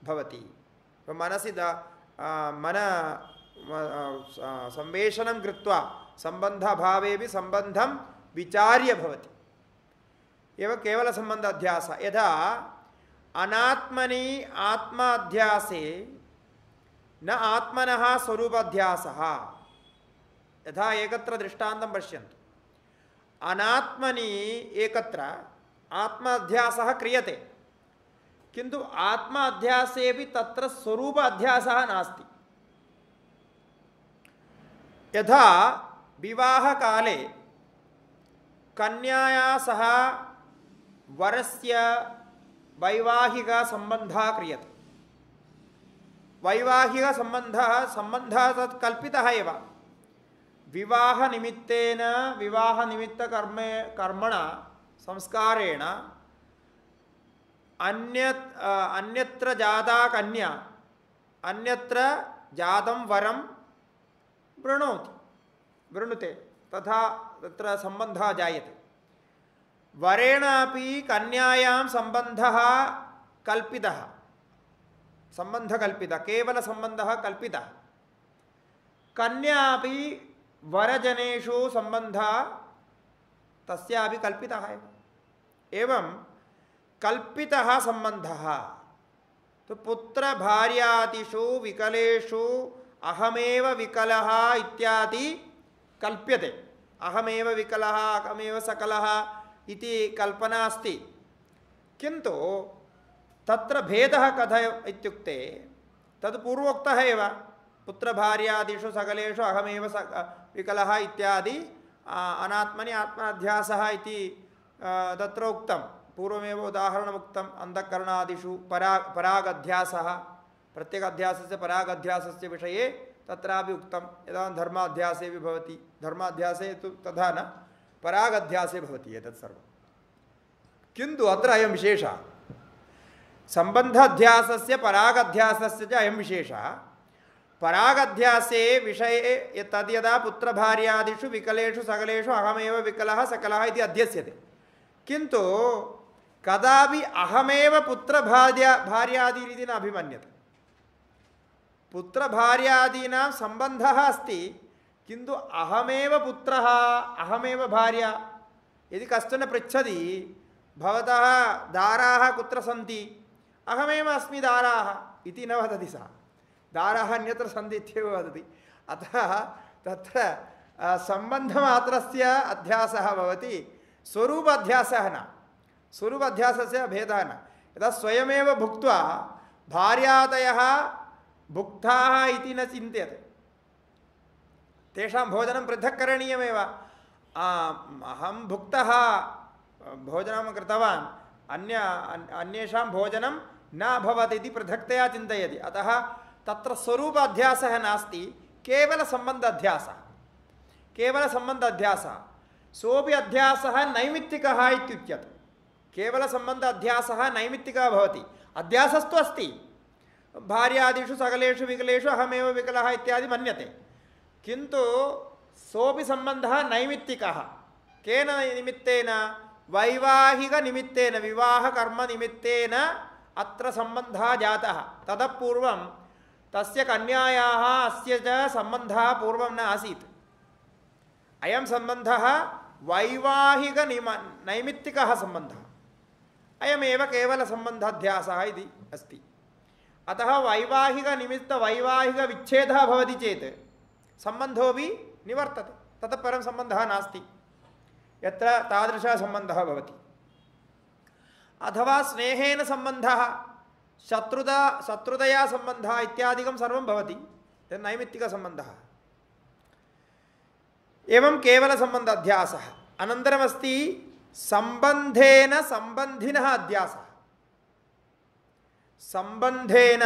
Speaker 1: भवति। मनसि संवेशनं कृत्वा संबंधभावेपि संबंधं विचार्य भवति। एव केवल संबंध अध्यास। यथा अनात्मनि आत्माध्यासे न आत्मनः स्वरूपाध्यासः। यथा एकत्र दृष्टान्तं पश्यन्तु। अनात्मनि एकत्र आत्माध्यासः क्रियते, किन्तु आत्माध्यासेपि तत्र स्वरूप अध्यासः नास्ति। यथा विवाहकाले कन्याया सह वरस्य वैवाहिक संबंधः क्रियते। वैवाहिक संबंधः तत् कल्पितः एव। विवाह निमित्तेन विवाह निमित्त कर्मणा संस्कारेण अन्यत्र जाता कन्या अन्यत्र जातं वरं वृणुते, तथा तत्र संबंधः जायते। वरेणापि कन्यायां संबंधः कल्पितः, संबंधकल्पितः, केवल संबंधः कल्पितः। कन्यापि वरजनेषु संबंधः तस्यापि कल्पितः एव। एवं कल्पितः संबंधः तो पुत्र भार्यादिषु विकलेषु अहमेव विकलः इत्यादि कल्प्यते। अहमेव विकलः अहमेव सकलः इति कल्पना अस्ति, किन्तु तत्र भेदः कथय इत्युक्ते तद् पूर्वोक्तः एव। पुत्रभार्यादिषु सकलेषु अहमेव विकलः इत्यादि अनात्मनि आत्माध्यासः इति तत्र उक्तं। पूर्वमेव उदाहरणमुक्तम्। अन्तःकरणादिषु परागध्यासः, प्रत्येकाध्यासस्य परागध्यासस्य विषये तत्रापि उक्तं। यदा धर्माध्यासे भवति, धर्माध्यासे तु तथा न, परागध्यासे भवति एतत् सर्वं। किन्तु अत्र अयं विशेषः, सम्बन्धाध्यासस्य परागध्यासस्य च अयं विशेषः। परागध्यासे विषये तद्यदा पुत्रभार्यादिषु विकलेषु सकलेषु अहमेव विकलः सकलः इति अध्यस्यते, किन्तु कदापि अहमेव पुत्रभार्यादीनिति न अभिमन्यते। पुत्रभार्यादीनां सम्बन्धः अस्ति, किन्तु अहमेव पुत्रः अहमेव भार्या। यदि कश्चन पृच्छति भवतः दाराः कुत्र सन्ति, अहमेव अस्मि दाराः इति न वदति सः। दाराः अन्यत्र सन्ति इत्येव वदति। अतः तत्र सम्बन्धमात्रस्य अध्यासः भवति, स्वरूप अध्यासः न। स्वरूप अध्यासस्य भेदः न। यदा स्वयमेव भुक्त्वा भार्यादयः भुक्ताः इति न चिन्त्यते, तेषां भोजनं पृथक् करणीयमेव। अहं भुक्तः भोजनं कृतवान्, अन्येषां भोजनं न अभवत् इति पृथक्तया चिन्तयति। अतः तत्र स्वरूप अध्यासः नास्ति, केवलसम्बन्ध अध्यासः केवलसम्बन्ध अध्यासः सोऽपि अध्यासः नैमित्तिकः इत्युच्यते केवलसम्बन्ध अध्यासः नैमित्तिकः भवति अध्यासस्तु अस्ति भार्यादिषु सकलेषु विकलेषु अहमेव विकलः इत्यादि मन्यते किन्तु सोऽपि सम्बन्धः नैमित्तिकः केन निमित्तेन वैवाहिकनिमित्तेन विवाहकर्मनिमित्तेन अत्र सम्बन्धः जातः ततः पूर्वं तस्य कन्यायाः अस्य च सम्बन्धः पूर्वं न आसीत् अयं सम्बन्धः नैमित्तिकः सम्बन्धः अयमेव केवलसम्बन्धाध्यासः इति अस्ति अतः वैवाहिकनिमित्तवैवाहिकविच्छेदः भवति चेत् सम्बन्धोऽपि निवर्तते ततः परं सम्बन्धः नास्ति यत्र तादृशः सम्बन्धः भवति अथवा स्नेहेन सम्बन्धः शत्रुतया सम्बन्धः इत्यादिकं सर्वं भवति तत् नैमित्तिकसम्बन्धः एवं केवलसम्बन्ध अध्यासः अनन्तरमस्ति सम्बन्धेन सम्बन्धिनः अध्यासः सम्बन्धेन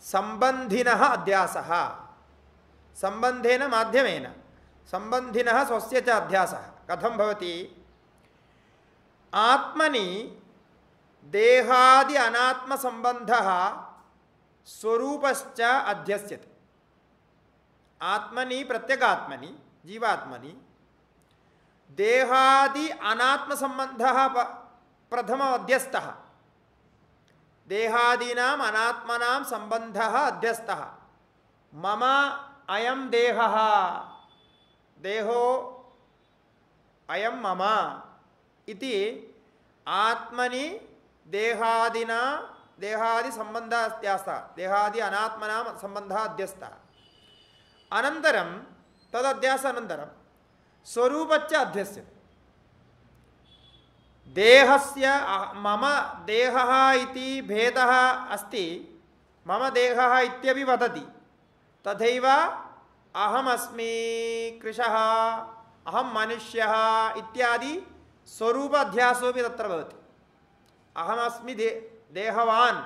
Speaker 1: सम्बन्धिनः अध्यासः सम्बन्धेन माध्यमेन सम्बन्धिनः स्वस्य च अध्यासः कथं भवति आत्मनि देहादि अनात्मसम्बन्धः स्वरूपश्च अध्यस्यते आत्मनि प्रत्यगात्मनि जीवात्मनि देहादि अनात्मसम्बन्धः प्रथमम् अध्यस्तः देहादीनाम् अनात्मनां सम्बन्धः अध्यस्तः मम अयं देहः देहो अयं मम इति आत्मनि देहादिना देहादि सम्बन्धः अध्यस्तः देहादि अनात्मनां सम्बन्धः अध्यस्तः अनन्तरं तदध्यासानन्तरं स्वरूपच्च अध्यस्यते देहस्य मम देहः इति भेदः अस्ति मम देहः इत्यपि वदति तथैव अहमस्मि कृशः अहं मनुष्यः इत्यादि स्वरूप अध्यासोऽपि तत्र भवति अहमस्मि देहवान्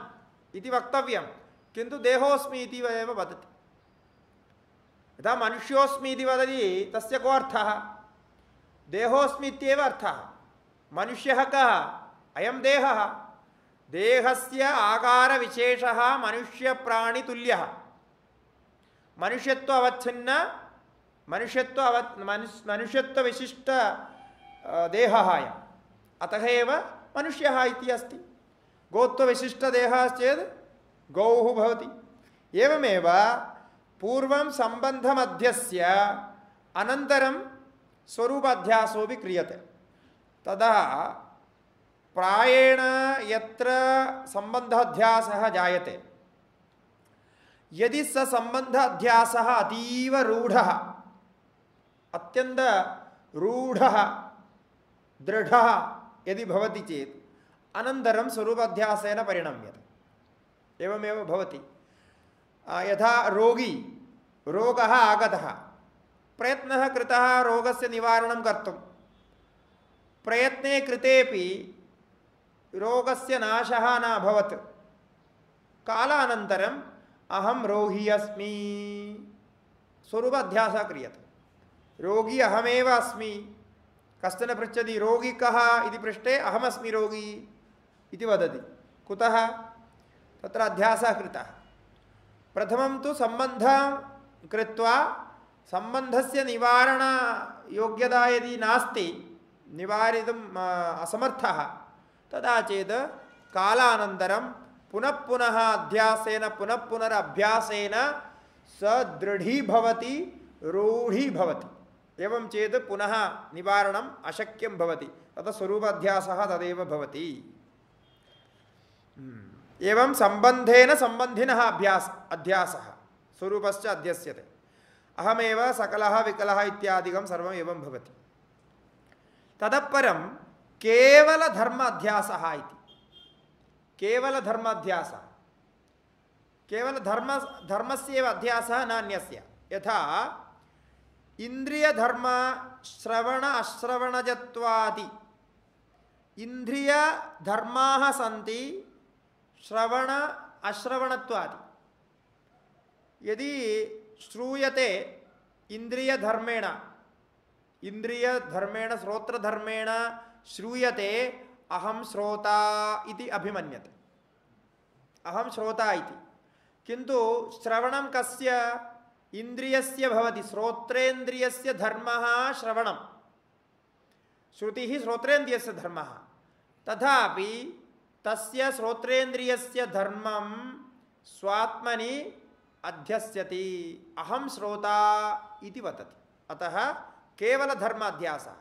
Speaker 1: इति वक्तव्यं किन्तु देहोऽस्मि इति एव वदति यदा मनुष्योऽस्मि इति वदति तस्य को अर्थः देहोऽस्मि इत्येव अर्थः मनुष्यः कः अयं देहः देहस्य आकारविशेषः मनुष्यप्राणितुल्यः मनुष्यत्वावच्छिन्न मनुष्यत्वविशिष्ट देहः अयम् अतः एव मनुष्यः इति अस्ति गोत्वविशिष्टदेहः चेत् गौः भवति एवमेव पूर्वं सम्बन्धमध्यस्य अनन्तरं स्वरूपाध्यासोऽपि क्रियते तदा प्रायेण यत्र सम्बन्धाध्यासः जायते यदि स सम्बन्धाध्यासः अतीव रूढः अत्यन्त रूढः दृढः यदि भवति चेत् अनन्तरं स्वरूपाध्यासेन परिणम्यते एवमेव भवति यथा रोगी रोगः आगतः प्रयत्नः कृतः रोगस्य निवारणं कर्तुं प्रयत्ने कृतेपि रोगस्य नाशः न अभवत् कालानन्तरम् अहं रोगी अस्मि स्वरूपाध्यासः क्रियते रोगी अहमेव अस्मि कश्चन पृच्छति रोगी कः इति पृष्टे अहमस्मि रोगी इति वदति कुतः तत्र अध्यासः कृतः प्रथमं तु सम्बन्धं कृत्वा सम्बन्धस्य निवारणयोग्यता यदि नास्ति निवारितुम् असमर्थः तदा चेत् कालानन्तरं पुनः पुनः अध्यासेन पुनः पुनरभ्यासेन स दृढी भवति रूढी भवति एवं चेत् पुनः निवारणम् अशक्यं भवति ततः स्वरूपाध्यासः तदेव भवति एवं सम्बन्धेन सम्बन्धिनः अध्यासः स्वरूपश्च अध्यस्यते अहमेव सकलः विकलः इत्यादिकं सर्वम् एवं भवति ततः परं केवलधर्म अध्यासः इति केवलधर्माध्यासः केवलधर्मस्यैव अध्यासः नान्यस्य यथा इंद्रियधर्म श्रवण अश्रवणजत्वादि इंद्रियधर्माः सन्ति श्रवण अश्रवणत्वादि यदि श्रूयते इन्द्रियधर्मेण श्रोत्रधर्मेण श्रूयते अहं श्रोता इति अभिमन्यते, अहं श्रोता इति। किन्तु श्रवणं कस्य इन्द्रियस्य भवति, श्रोत्रेन्द्रियस्य धर्मः श्रवणं, श्रुतिः श्रोत्रेन्द्रियस्य धर्मः। तथापि तस्य श्रोत्रेन्द्रियस्य धर्मं स्वात्मनि अध्यस्यति, अहं श्रोता इति वदति। अतः केवल धर्माध्यासः।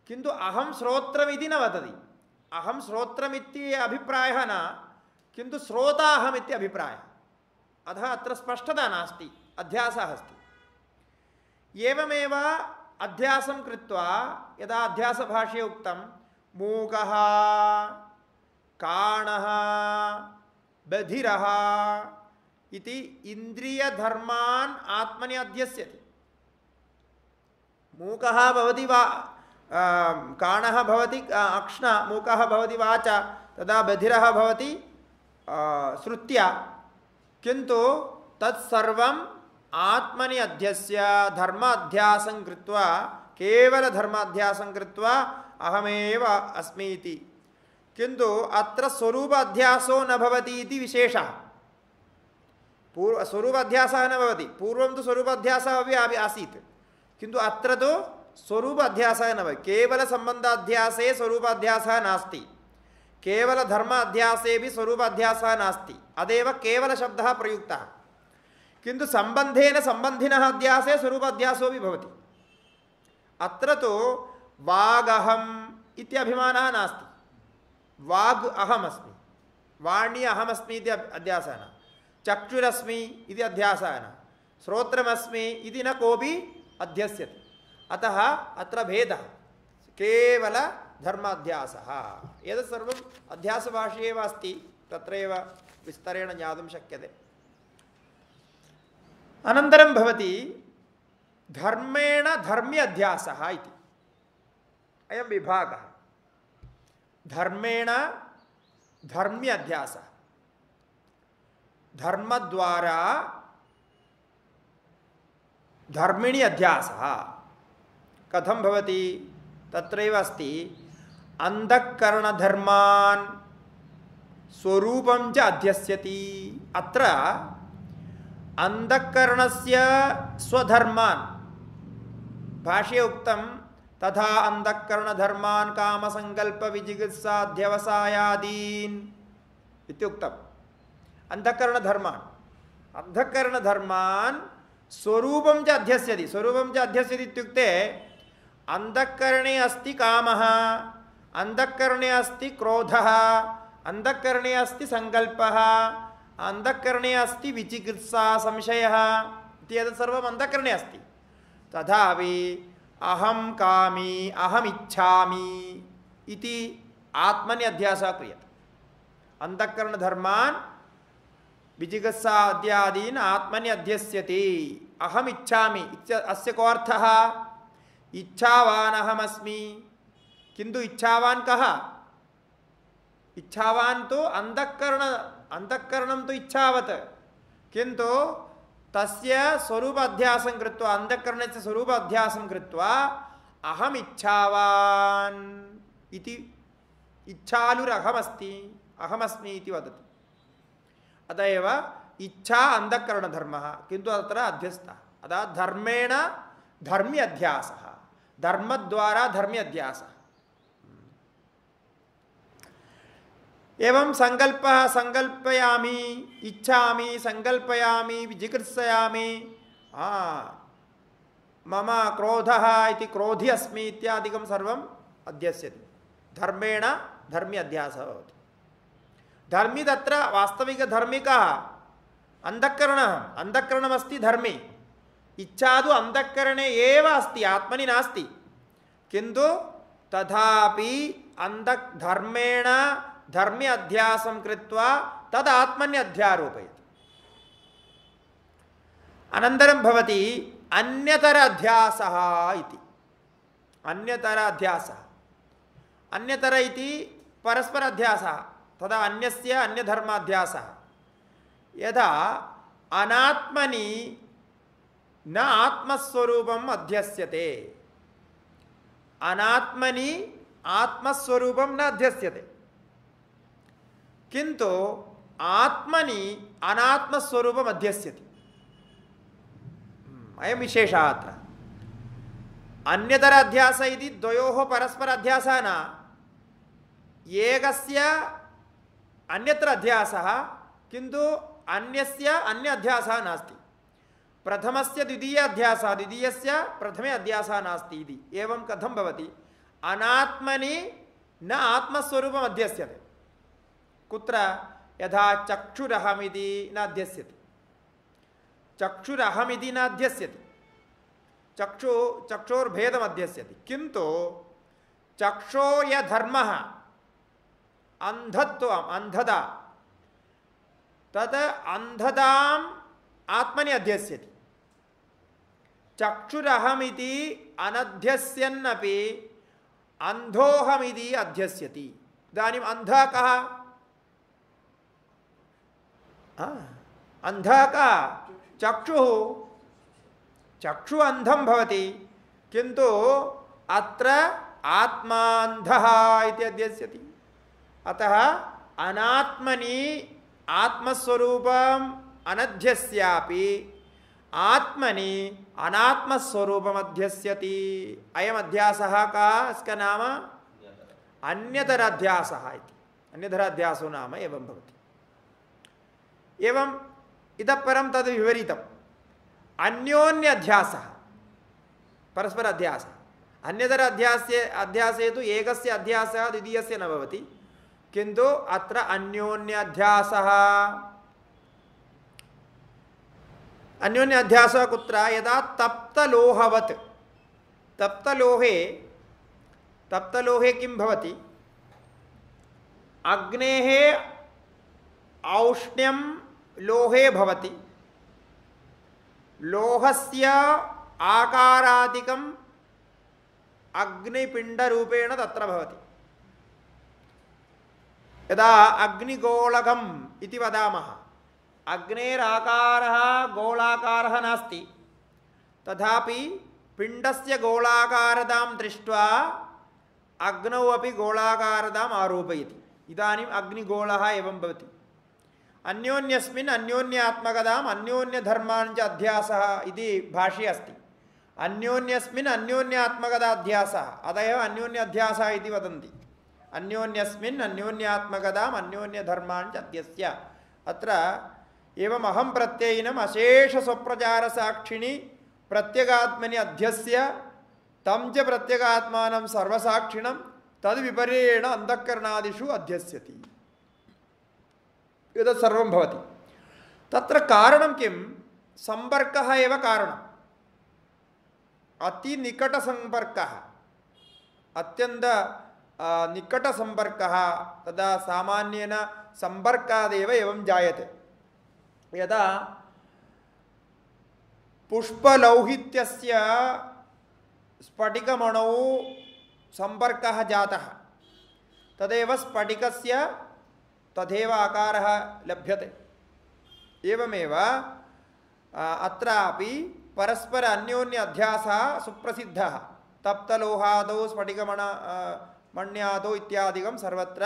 Speaker 1: किन्तु अहं श्रोत्रमिति न वदति, अहं श्रोत्रमिति अभिप्रायः न, किन्तु श्रोता अहमिति अभिप्रायः। अतः अत्र स्पष्टता नास्ति, अध्यासः अस्ति। एवमेव अध्यासं कृत्वा यदा अध्यासभाष्ये उक्तं मूकः काणः बधिरः इति इन्द्रियधर्मान् आत्मनि अध्यस्यति। मूकः भवति वा काणः भवति अक्ष्ण, मूकः भवति वाचा, तदा बधिरः भवति श्रुत्या। किन्तु तत्सर्वम् आत्मनि अध्यस्य धर्माध्यासं कृत्वा, केवल धर्माध्यासं कृत्वा अहमेव अस्मि इति। किन्तु अत्र स्वरूप अध्यासो न भवति इति विशेषः। स्वरूप अध्यासः न भवति, पूर्वं तु स्वरूप अध्यासः अपि आसीत्, किन्तु अत्र तु स्वरूप अध्यासः न भवति। केवल सम्बन्धाध्यासे स्वरूप अध्यासः नास्ति, केवल धर्माध्यासे भी स्वरूप अध्यासः नास्ति, अदेव केवल शब्दः प्रयुक्तः। किन्तु सम्बन्धेन सम्बन्धिनः अध्यासे स्वरूप अध्यासो भी भवति। अत्र तु वागहम् इति अभिमानः नास्ति, वाग् अहमस्मि, वाणी अहमस्मि इति अध्यासः न, चक्षुरस्मि इति अध्यासः न, श्रोत्रमस्मि इति न कोऽपि अध्यस्यते। अतः अत्र भेदः केवल धर्माध्यासः। एतत् सर्वम् अध्यासभाष्ये एव अस्ति, तत्रैव विस्तरेण ज्ञातुं शक्यते। अनन्तरं भवति धर्मेण धर्म्यध्यासः इति, अयं विभागः। धर्मेण धर्म्यध्यासः, धर्मद्वारा धर्मिणी अध्यासः कथं भवति, तत्रैव अस्ति अंधःकरणधर्मान् स्वरूपं च अध्यस्यति। अत्र अंधःकरणस्य स्वधर्मान् भाष्ये उक्तं, तथा अंधःकरणधर्मान् कामसङ्कल्पविजिगीषाध्यवसायादीन् इत्युक्तम्। अंधःकरणधर्मान् स्वरूपं च अध्यस्यति। स्वरूपं च अध्यस्यति इत्युक्ते अंधःकरणे अस्ति कामः, अंधःकरणे अस्ति क्रोधः, अंधःकरणे अस्ति संकल्पः, अंधःकरणे अस्ति विचिकित्सा संशयः इति एतत् सर्वम् अंधःकरणे अस्ति। तथापि अहं कामी अहम् इच्छामि इति आत्मनि अध्यासः क्रियते। अंधःकरणधर्मान् विजिगीषा इत्यादीन् आत्मनि अध्यस्यति। अहम् इच्छामि, अस्य को अर्थः, इच्छावान् अहमस्मि। किन्तु इच्छावान् कः, इच्छावान् तो अंधःकरणं तो इच्छावत्, किन्तु तस्य स्वरूप अध्यासं कृत्वा, अंधःकरणस्य स्वरूप अध्यासं कृत्वा अहम् इच्छावान् इति, इच्छालुरहमस्ति, अहमस्मि इति वदति। अतः एव इच्छा अंधःकरणधर्मः, किन्तु अत्र अध्यस्तः। अतः धर्मेण धर्म्य अध्यासः, धर्मद्वारा धर्म्य अध्यासः। एवं संकल्पः, संकल्पयामि, इच्छामि, संकल्पयामि, जिगीषयामि, मम क्रोधः इति क्रोधी अस्मि इत्यादिकं सर्वम् अध्यस्यति। धर्मेण धर्म्य अध्यासः भवति। धर्मी तत्र वास्तविकधर्मिकः अंधःकरणः, अंधःकरणमस्ति धर्मे। इच्छा तु अंधःकरणे एव अस्ति, आत्मनि नास्ति, किन्तु तथापि धर्मेण धर्म्य अध्यासं कृत्वा तद् आत्मनि अध्यारोपयति। अनन्तरं भवति अन्यतर अध्यासः इति। अन्यतर अध्यासः, अन्यतर इति परस्पर अध्यासः, तदा अन्यस्य अन्यधर्माध्यासः। यदा अनात्मनि न आत्मस्वरूपम् अध्यस्यते। अनात्मनि आत्मस्वरूपं न अध्यस्यते, किन्तु आत्मनि अनात्मस्वरूपम् अध्यस्यति। अयं विशेषः अत्र। अन्यतर अध्यास इति द्वयोः परस्पर अध्यासः न, एकस्य अन्यत्र अध्यासः, किन्तु अन्यस्य अन्य अध्यासः नास्ति। प्रथमस्य द्वितीय अध्यासः, द्वितीयस्य प्रथमे अध्यासः नास्ति इति। एवं कथं भवति? अनात्मनि न आत्मस्वरूपम् अध्यस्यते। कुत्र? यथा चक्षुरहमिति न अध्यस्यति, चक्षुरहमिति न अध्यस्यति, चक्षोर्भेदम् अध्यस्यति, किन्तु चक्षो य धर्मः अंधत्वम् अंधता, तत् अंधताम् आत्मनि अध्यस्यति। चक्षुरहमिति अनध्यस्यन्नपि अंधोहमिति अध्यस्यति। इदानीम् अंधः कः? अंधः कः? चक्षुः। चक्षु अंधं भवति, किन्तु अत्र आत्मान्धः इति अध्यस्यति। अतः अनात्मनि आत्मस्वरूपम् अनध्यस्यापि आत्मनि अनात्मस्वरूपम् अध्यस्यति। अयम् अध्यासः कः? इसका नाम अन्यतराध्यासः इति। अन्यतराध्यासो नाम एवं भवति। एवं इतः परं तद् विपरीतम्। अन्योन्याध्यासः, परस्पर अध्यासः। अन्यतर अध्यासे तु एकस्य अध्यासः द्वितीयस्य न भवति, किन्तु अत्र अन्योन्याध्यासः। अन्योन्याध्यासः कुत्र? यदा तप्तलोहवत्, तप्तलोहे किं भवति? अग्नेः औष्ण्यं लोहे भवति, लोहस्य आकारादिकम् अग्निपिण्डरूपेण तत्र भवति। यदा अग्निगोलकम् इति वदामः, अग्नेराकारः गोलाकारः नास्ति, तथापि पिण्डस्य गोलाकारतां दृष्ट्वा अग्नौ अपि गोलाकारताम् आरोपयति। इदानीम् अग्निगोलः एवं भवति। अन्योन्यस्मिन् अन्योन्यात्मकताम् अन्योन्यधर्मान् च अध्यासः इति भाष्ये अस्ति। अन्योन्यस्मिन् अन्योन्यात्मकताध्यासः, अतः एव अन्योन्याध्यासः इति वदन्ति। अन्योन्यस्मिन् अन्योन्यात्मकताम् अन्योन्यधर्मान् च अध्यस्य। अत्र एवम् अहं प्रत्ययिनम् अशेषस्वप्रचारसाक्षिणि प्रत्यगात्मनि अध्यस्य तं च प्रत्यगात्मानं सर्वसाक्षिणं तद्विपर्ययेण अन्तःकरणादिषु अध्यस्यति। एतत् सर्वं भवति। तत्र कारणं किं? सम्पर्कः एव कारणम्। अतिनिकटसम्पर्कः, अत्यन्त निकटसम्पर्कः, तदा सामान्येन सम्पर्कादेव एवं जायते। यदा पुष्पलौहित्यस्य स्फटिकमणौ सम्पर्कः जातः, तदेव स्फटिकस्य तथैव आकारः लभ्यते। एवमेव अत्रापि परस्पर अन्योन्य अध्यासः सुप्रसिद्धः। तप्तलोहादौ स्फटिकमण्यादौ इत्यादिकं सर्वत्र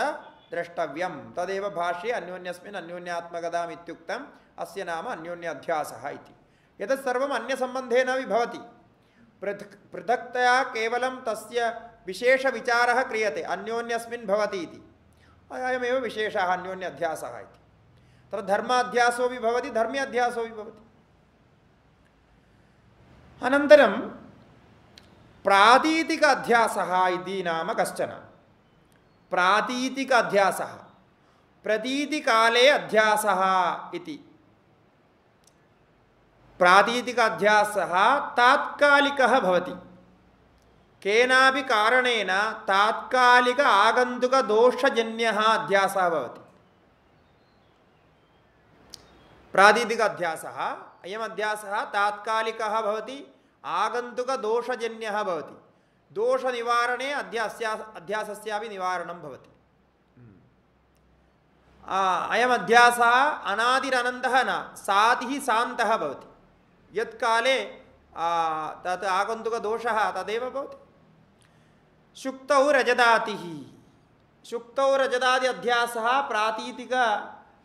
Speaker 1: द्रष्टव्यं। तदेव भाष्ये अन्योन्यस्मिन् अन्योन्यात्मकताम् इत्युक्तम्। अस्य नाम अन्योन्याध्यासः इति। एतत् सर्वम् अन्यसम्बन्धेन भवति। पृथक्तया केवलं तस्य विशेषविचारः क्रियते, अन्योन्यस्मिन् भवति इति। अयमेव विशेषः अन्योन्याध्यासः इति। तत्र धर्माध्यासोऽपि भवति, धर्म्याध्यासोऽपि भवति। अनन्तरं प्रातीतिक अध्यासः इति नाम कश्चन। प्रातीतिक अध्यासः, प्रतीतिकाले अध्यासः इति। प्रातीतिक अध्यासः तात्कालिकः भवति। केनापि कारणेन तात्कालिक आगन्तुक दोषजन्यः अध्यासः भवति। प्रातीतिक अध्यासः, अयम् अध्यासः तात्कालिकः भवति, आगन्तुक दोषजन्यः भवति। दोषनिवारणे अध्यासस्यापि निवारणं भवति। अयम् अध्यासः अनादिरनन्तः न, सातिः शान्तः भवति। यत्काले तत् आगन्तुकदोषः तदेव भवति। शुक्तौ रजदातिः, शुक्तौ रजदादि अध्यासः प्रातीतिक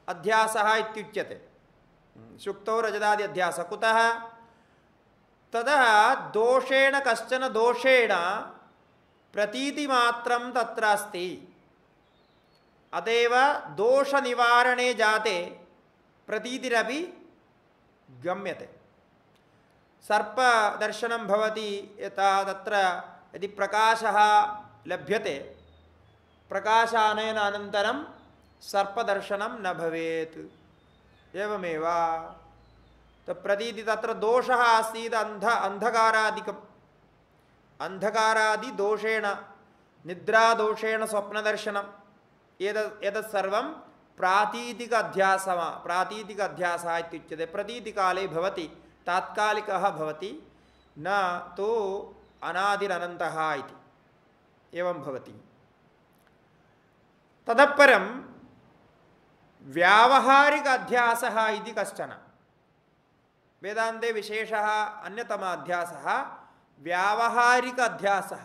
Speaker 1: अध्यासः इत्युच्यते। शुक्तौ रजदादि अध्यासः कुतः? तदा दोषेण कश्चन दोषेण प्रतीतिमात्रं तत्र अस्ति, अतएव दोषनिवारणे जाते प्रतीतिरपि गम्यते। सर्पदर्शनं भवति यथा तत्र यदि प्रकाशः लभ्यते, प्रकाशानयन अनन्तरं सर्पदर्शनं न भवेत्। एवमेव प्रतीति तत्र दोषः आसीत् अन्धकारादिकम्, अन्धकारादिदोषेण निद्रादोषेण स्वप्नदर्शनं एतत् सर्वं प्रातीतिक अध्यासः इत्युच्यते। प्रतीतिकाले भवति, तात्कालिकः भवति, न तु अनादिरनन्तः इति एवं भवति। ततः परं व्यावहारिक अध्यासः इति कश्चन वेदान्ते विशेषः अन्यतमः अध्यासः व्यावहारिक अध्यासः।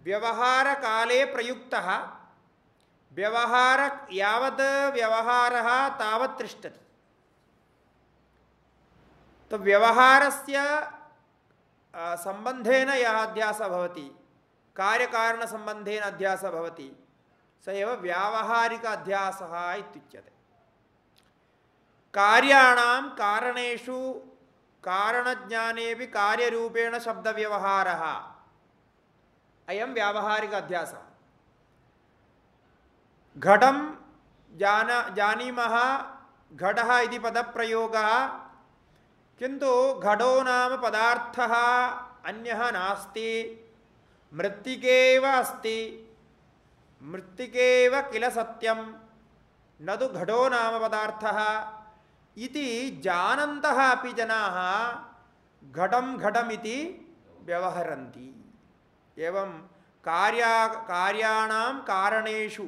Speaker 1: व्यवहारकाले प्रयुक्तः व्यवहार यावत् व्यवहारः तावत् तिष्ठति। तो व्यवहारस्य सम्बन्धेन यः अध्यासः भवति, कार्यकारणसम्बन्धेन अध्यासः भवति, स एव व्यावहारिक अध्यासः इत्युच्यते। कार्याणां कारणेषु कारणज्ञानेऽपि कार्यरूपेण शब्दव्यवहारः, अयं व्यावहारिक अध्यासः। घटं जानीमः, घटः इति पदप्रयोगः, किन्तु घटो नाम पदार्थः अन्यः नास्ति, मृत्तिकेव अस्ति, मृत्तिकेव किल सत्यं, न तु घटो नाम पदार्थः इति जानन्तः अपि जनाः घटं घटमिति व्यवहरन्ति। एवं कार्याणां कारणेषु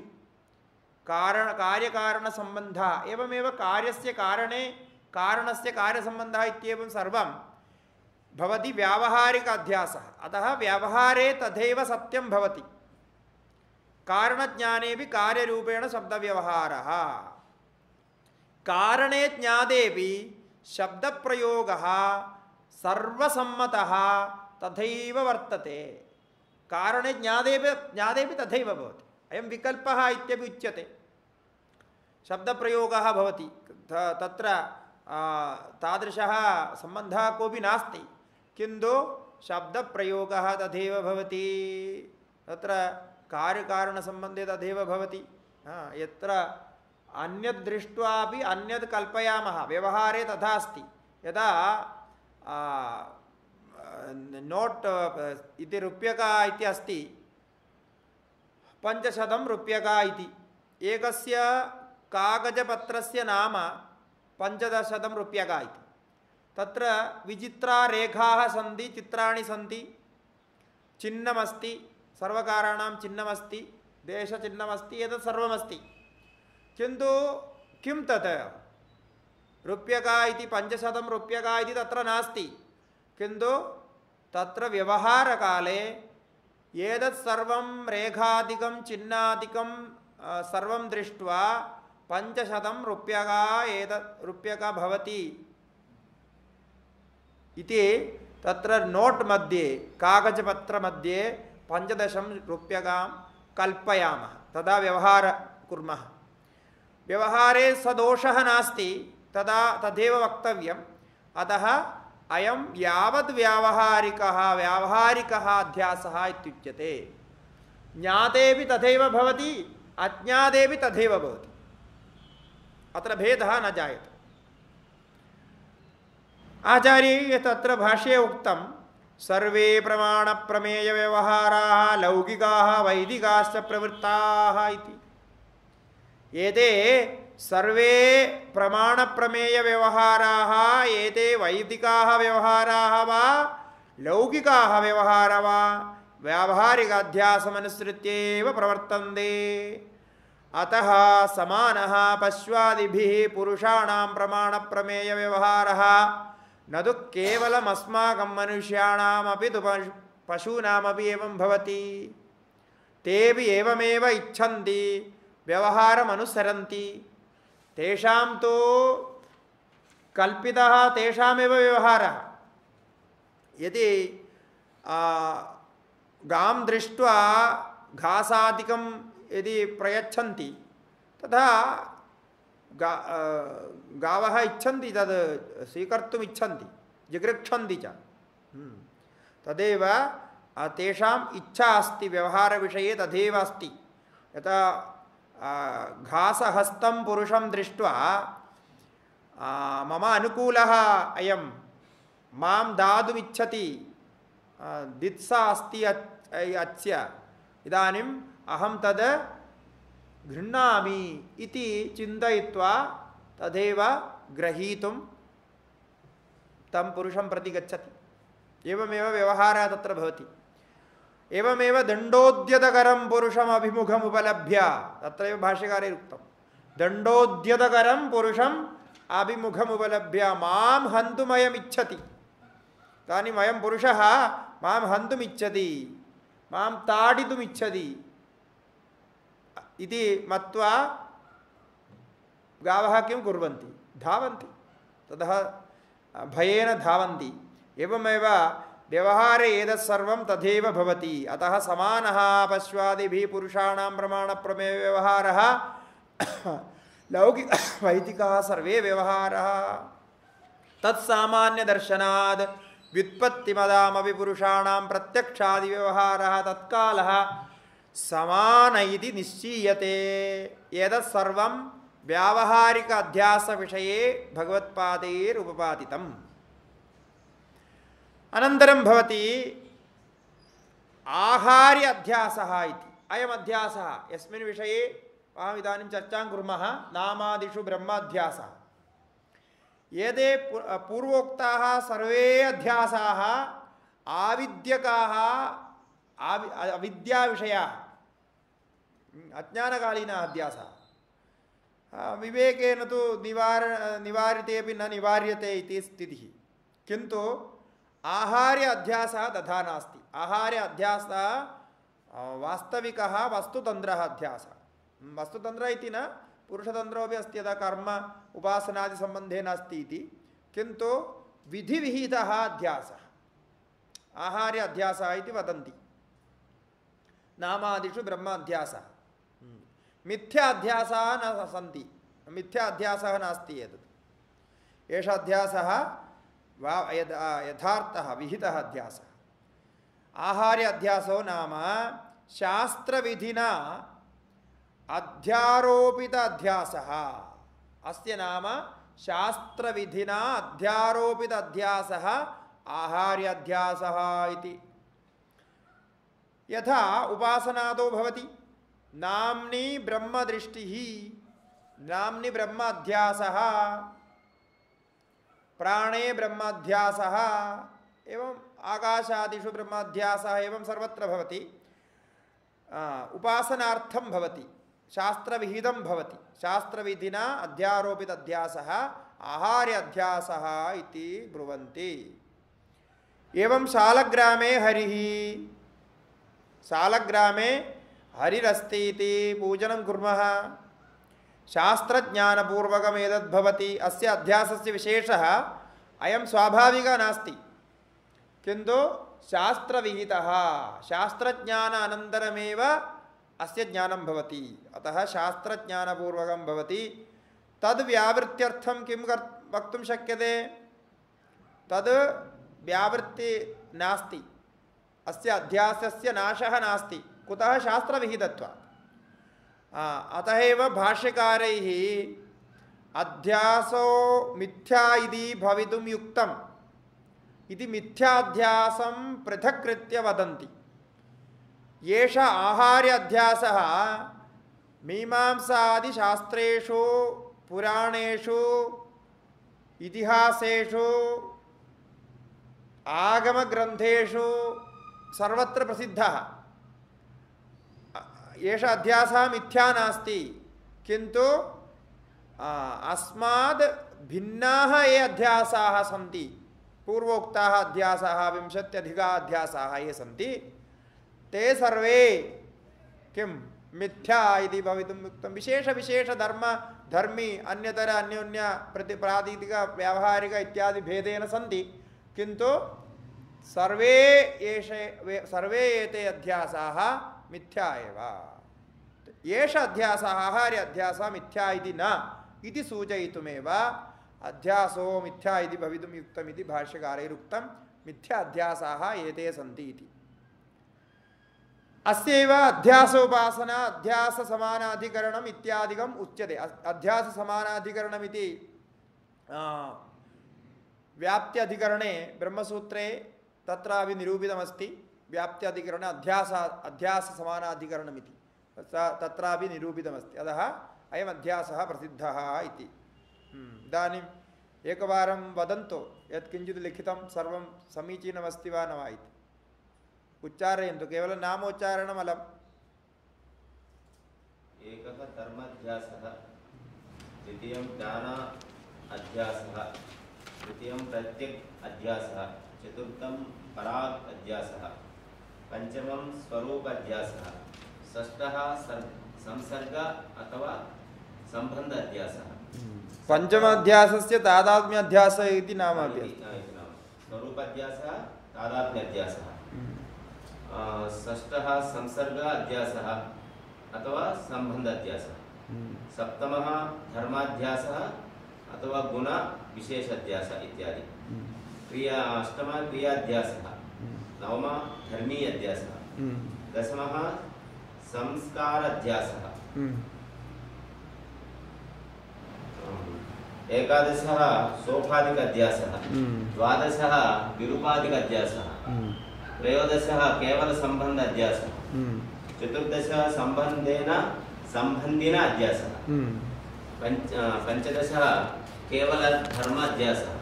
Speaker 1: कार्यकारणसम्बन्धः, एवमेव कार्यस्य कारणे कारणस्य कार्यसम्बन्धः इत्येवं सर्वं भवति व्यावहारिक अध्यासः। अतः व्यवहारे तथैव सत्यं भवति, कारणज्ञानेऽपि कार्यरूपेण शब्दव्यवहारः, कारणे ज्ञातेऽपि शब्दप्रयोगः सर्वसम्मतः तथैव वर्तते। कारणे ज्ञातेऽपि तथैव भवति। अयं विकल्पः इत्यपि उच्यते। शब्दप्रयोगः भवति, तत्र तादृशः सम्बन्धः कोऽपि नास्ति, किन्तु शब्दप्रयोगः तथैव भवति। तत्र कार्यकारणसम्बन्धे तथैव भवति। यत्र अन्यद् दृष्ट्वापि अन्यद् कल्पयामः, व्यवहारे तथा अस्ति। यदा नोट् इति रूप्यका इति अस्ति, 500 रूप्यका इति, एकस्य कागजपत्रस्य नाम 500 रूप्यका इति। तत्र विचित्रारेखाः सन्ति, चित्राणि सन्ति, चिह्नमस्ति, सर्वकाराणां चिह्नमस्ति, देशचिह्नमस्ति, एतत् सर्वमस्ति। किन्तु किं तत् रूप्यका इति 500 रूप्यका इति तत्र नास्ति, किन्तु तत्र व्यवहारकाले एतत् सर्वं रेखादिकं चिह्नादिकं सर्वं दृष्ट्वा 500 रूप्यका एतत् रूप्यका भवति इति तत्र नोट् मध्ये कागजपत्र मध्ये 15 रूप्यकां कल्पयामः, तदा व्यवहार कुर्मः। व्यवहारे सदोषः नास्ति, तदा तदेव वक्तव्यम्। अतः अयं यावद् व्यावहारिकः अध्यासः इत्युच्यते। ज्ञातेऽपि तथैव भवति, अज्ञातेऽपि तथैव भवति, अत्र भेदः न जायते। आचार्यैः तत्र भाष्ये उक्तं सर्वे प्रमाणप्रमेयव्यवहाराः लौकिकाः वैदिकाश्च प्रवृत्ताः इति। एते सर्वे प्रमाणप्रमेयव्यवहाराः, एते वैदिकाः व्यवहाराः वा लौकिकाः व्यवहाराः वा व्यावहारिकाध्यासमनुसृत्येव प्रवर्तन्ते। अतः समानः पश्वादिभिः पुरुषाणां प्रमाणप्रमेयव्यवहारः न तु केवलम् अस्माकं मनुष्याणामपि तु पशूनामपि एवं भवति। तेऽपि एवमेव इच्छन्ति, व्यवहारम् अनुसरन्ति। तेषां तु कल्पितः तेषामेव व्यवहारः। यदि गां दृष्ट्वा घासादिकं यदि प्रयच्छन्ति तथा गावः इच्छन्ति, तद् स्वीकर्तुम् इच्छन्ति, जिगृक्षन्ति च। तदेव तेषाम् इच्छा अस्ति व्यवहारविषये, तथैव अस्ति। यथा घासहस्तं पुरुषं दृष्ट्वा मम अनुकूलः अयं, मां दातुमिच्छति, दित्सा अस्ति अस्य, इदानीम् अहं तद् गृह्णामि इति चिन्तयित्वा तदेव ग्रहीतुं तं पुरुषं प्रति गच्छति। एवमेव व्यवहारः तत्र भवति। एवमेव दण्डोद्यतकरं पुरुषम् अभिमुखमुपलभ्य, तत्रैव भाष्यकारेण उक्तं, दण्डोद्यतकरं पुरुषम् अभिमुखमुपलभ्य मां हन्तुमयमिच्छति। इदानीम् अयं पुरुषः मां हन्तुमिच्छति, मां ताडितुमिच्छति इति मत्वा गावः किं कुर्वन्ति? धावन्ति, ततः भयेन धावन्ति। एवमेव व्यवहारे एतत्सर्वं तथैव भवति। अतः समानः पश्वादिभिः पुरुषाणां प्रमाणप्रमेय व्यवहारः लौकिक वैदिकः सर्वे व्यवहारः तत्सामान्यदर्शनाद् व्युत्पत्तिमदामपि पुरुषाणां प्रत्यक्षादि व्यवहारः तत्कालः समान इति निश्चीयते। एतत्सर्वं व्यावहारिक अध्यास विषये भगवत्पादैरुपपादितम्। अनन्तरं भवति आहार्य अध्यासः इति। अयम् अध्यासः यस्मिन् विषये अहम् इदानीं चर्चां कुर्मः, नामादिषु ब्रह्माध्यासः। एते पूर्वोक्ताः सर्वे अध्यासाः आविद्यकाः, अविद्याविषयाः, अज्ञानकालीनः अध्यासः। विवेकेन तु निवार्यतेपि न निवार्यते इति स्थितिः। किन्तु आहार्य अध्यासः तथा नास्ति। आहार्य अध्यासः वास्तविकः वस्तुतन्त्रः अध्यासः। वस्तुतन्त्र इति न, पुरुषतन्त्रोपि अस्ति, यदा कर्म उपासनादि सम्बन्धेन अस्ति इति। किन्तु विधिविहितः अध्यासः आहार्य अध्यासः इति वदन्ति। नामादिषु ब्रह्माध्यासः। मिथ्या अध्यासः न सन्ति, मिथ्या अध्यासः नास्ति। एतत् एषः अध्यासः यथार्थः विहितः अध्यासः। आहार्य अध्यासो नाम शास्त्रविधिना अध्यारोपित अध्यासः। अस्य नाम शास्त्रविधिना अध्यारोपित अध्यासः आहार्य अध्यासः इति। यथा उपासनादो भवति नाम्नि ब्रह्मदृष्टिः, नाम्नि ब्रह्माध्यासः, प्राणे ब्रह्माध्यासः, एवं आकाशादिषु ब्रह्माध्यासः, एवं सर्वत्र भवति। उपासनार्थं भवति, शास्त्रविहितं भवति। शास्त्रविधिना अध्यारोपित अध्यासः आहार्य अध्यासः इति ब्रुवन्ति। एवं शालग्रामे हरिः, शालग्रामे हरिरस्ति इति पूजनं कुर्मः। शास्त्रज्ञानपूर्वकम् एतद्भवति। अस्य अध्यासस्य विशेषः अयं स्वाभाविकः नास्ति, किन्तु शास्त्रविहितः। शास्त्रज्ञान अनन्तरमेव अस्य ज्ञानं भवति। अतः शास्त्रज्ञानपूर्वकं भवति। तद् व्यावृत्त्यर्थं किं वक्तुं शक्यते? तद् व्यावृत्ति नास्ति, अस्य अध्यासस्य नाशः नास्ति। कुतः? शास्त्रविहितत्वात्। अतः एव भाष्यकारैः अध्यासो मिथ्या इति भवितुं युक्तम् इति मिथ्याध्यासं पृथक्कृत्य वदन्ति। एष आहार्य अध्यासः मीमांसादिशास्त्रेषु, पुराणेषु, इतिहासेषु, आगमग्रन्थेषु सर्वत्र प्रसिद्धः। एष अध्यासः मिथ्या नास्ति, किन्तु अस्माद् भिन्नाः ये अध्यासाः सन्ति पूर्वोक्ताः अध्यासाः 20 अध्यासाः ये सन्ति ते सर्वे किं मिथ्या इति भवितुम् उक्तं। विशेष विशेष धर्मी अन्यतर अन्योन्य प्रातिदिक व्यावहारिक इत्यादि भेदेन सन्ति, किन्तु सर्वे एते अध्यासाः मिथ्या एव। एष अध्यासः आहार्य अध्यासः मिथ्या इति न इति सूचयितुमेव अध्यासो मिथ्या इति भवितुं युक्तमिति भाष्यकारैरुक्तं। मिथ्या अध्यासाः एते सन्ति इति। अस्यैव अध्यासोपासना अध्यास समानाधिकरणम् इत्यादिकम् उच्यते। अध्यास समानाधिकरणमिति व्याप्त्यधिकरणे ब्रह्मसूत्रे तत्रापि निरूपितमस्ति। व्याप्त्यधिकरणे अध्यास समानाधिकरणमिति तत्रापि निरूपितमस्ति। अतः अयम् अध्यासः प्रसिद्धः इति। इदानीम् एकवारं वदन्तु यत् किञ्चित् लिखितं सर्वं समीचीनमस्ति वा न वा इति उच्चारयन्तु। केवलं नामोच्चारणमलम्।
Speaker 2: एकः कर्माध्यासः, द्वितीयं ज्ञान अध्यासः, तृतीयं प्रत्यक् अध्यासः, चतुर्थं पराग अध्यासः, पंचमं स्वरूप अध्यासः, षष्ठः संसर्ग अथवा संबंध अध्यासः।
Speaker 1: पंचम अध्यासस्य तादात्म्य अध्यास इति नाम अपि
Speaker 2: स्वरूप अध्यासः, तादात्म्य अध्यासः। षष्ठः संसर्ग अध्यासः अथवा संबंध अध्यासः। सप्तमः धर्माध्यासः अथवा गुण विशेष अध्यास इत्यादि। अष्टमः क्रियाध्यासः, नवमः धर्मी अध्यासः, दशमः संस्कार अध्यासः, एकादशः सोपाधिक अध्यासः, द्वादशः विरूपाधिक अध्यासः, त्रयोदशः केवल संबंध अध्यासः, चतुर्दशः संबंधेन संबंधिन अध्यासः, पंचदशः केवल धर्म अध्यासः,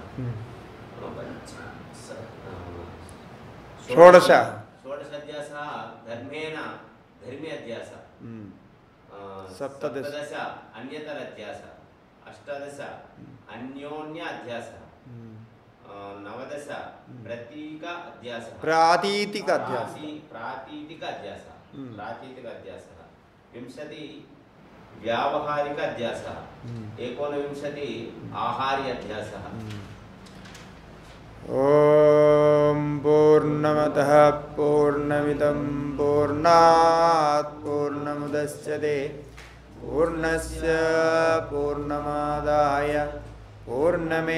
Speaker 2: षोडश अध्यासः धर्मेण धर्मी अध्यासः, सप्तदश अन्यतर अध्यासः, अष्टादश अन्योन्य अध्यासः, नवदश प्रतीक अध्यासः, प्रातीतिक अध्यासः, 20 व्यावहारिक अध्यासः, 19 आहार्य अध्यासः।
Speaker 1: ओम पूर्णमतः पूर्णमिदं पूर्णात् पूर्णमुदच्यते पूर्णस्य पूर्णमादाय पूर्णमेवावशिष्यते।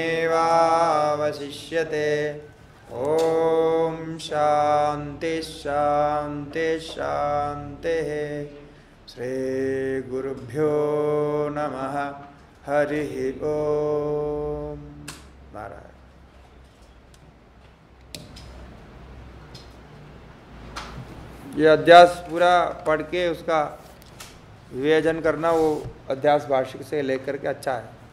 Speaker 1: ओम शांति शांति शांतिः। श्री गुरुभ्यो नमः। हरि ओम। नारायण। ये अध्यास पूरा पढ़ के उसका विवेचन करना, वो अध्यास भाष्य से लेकर के अच्छा है।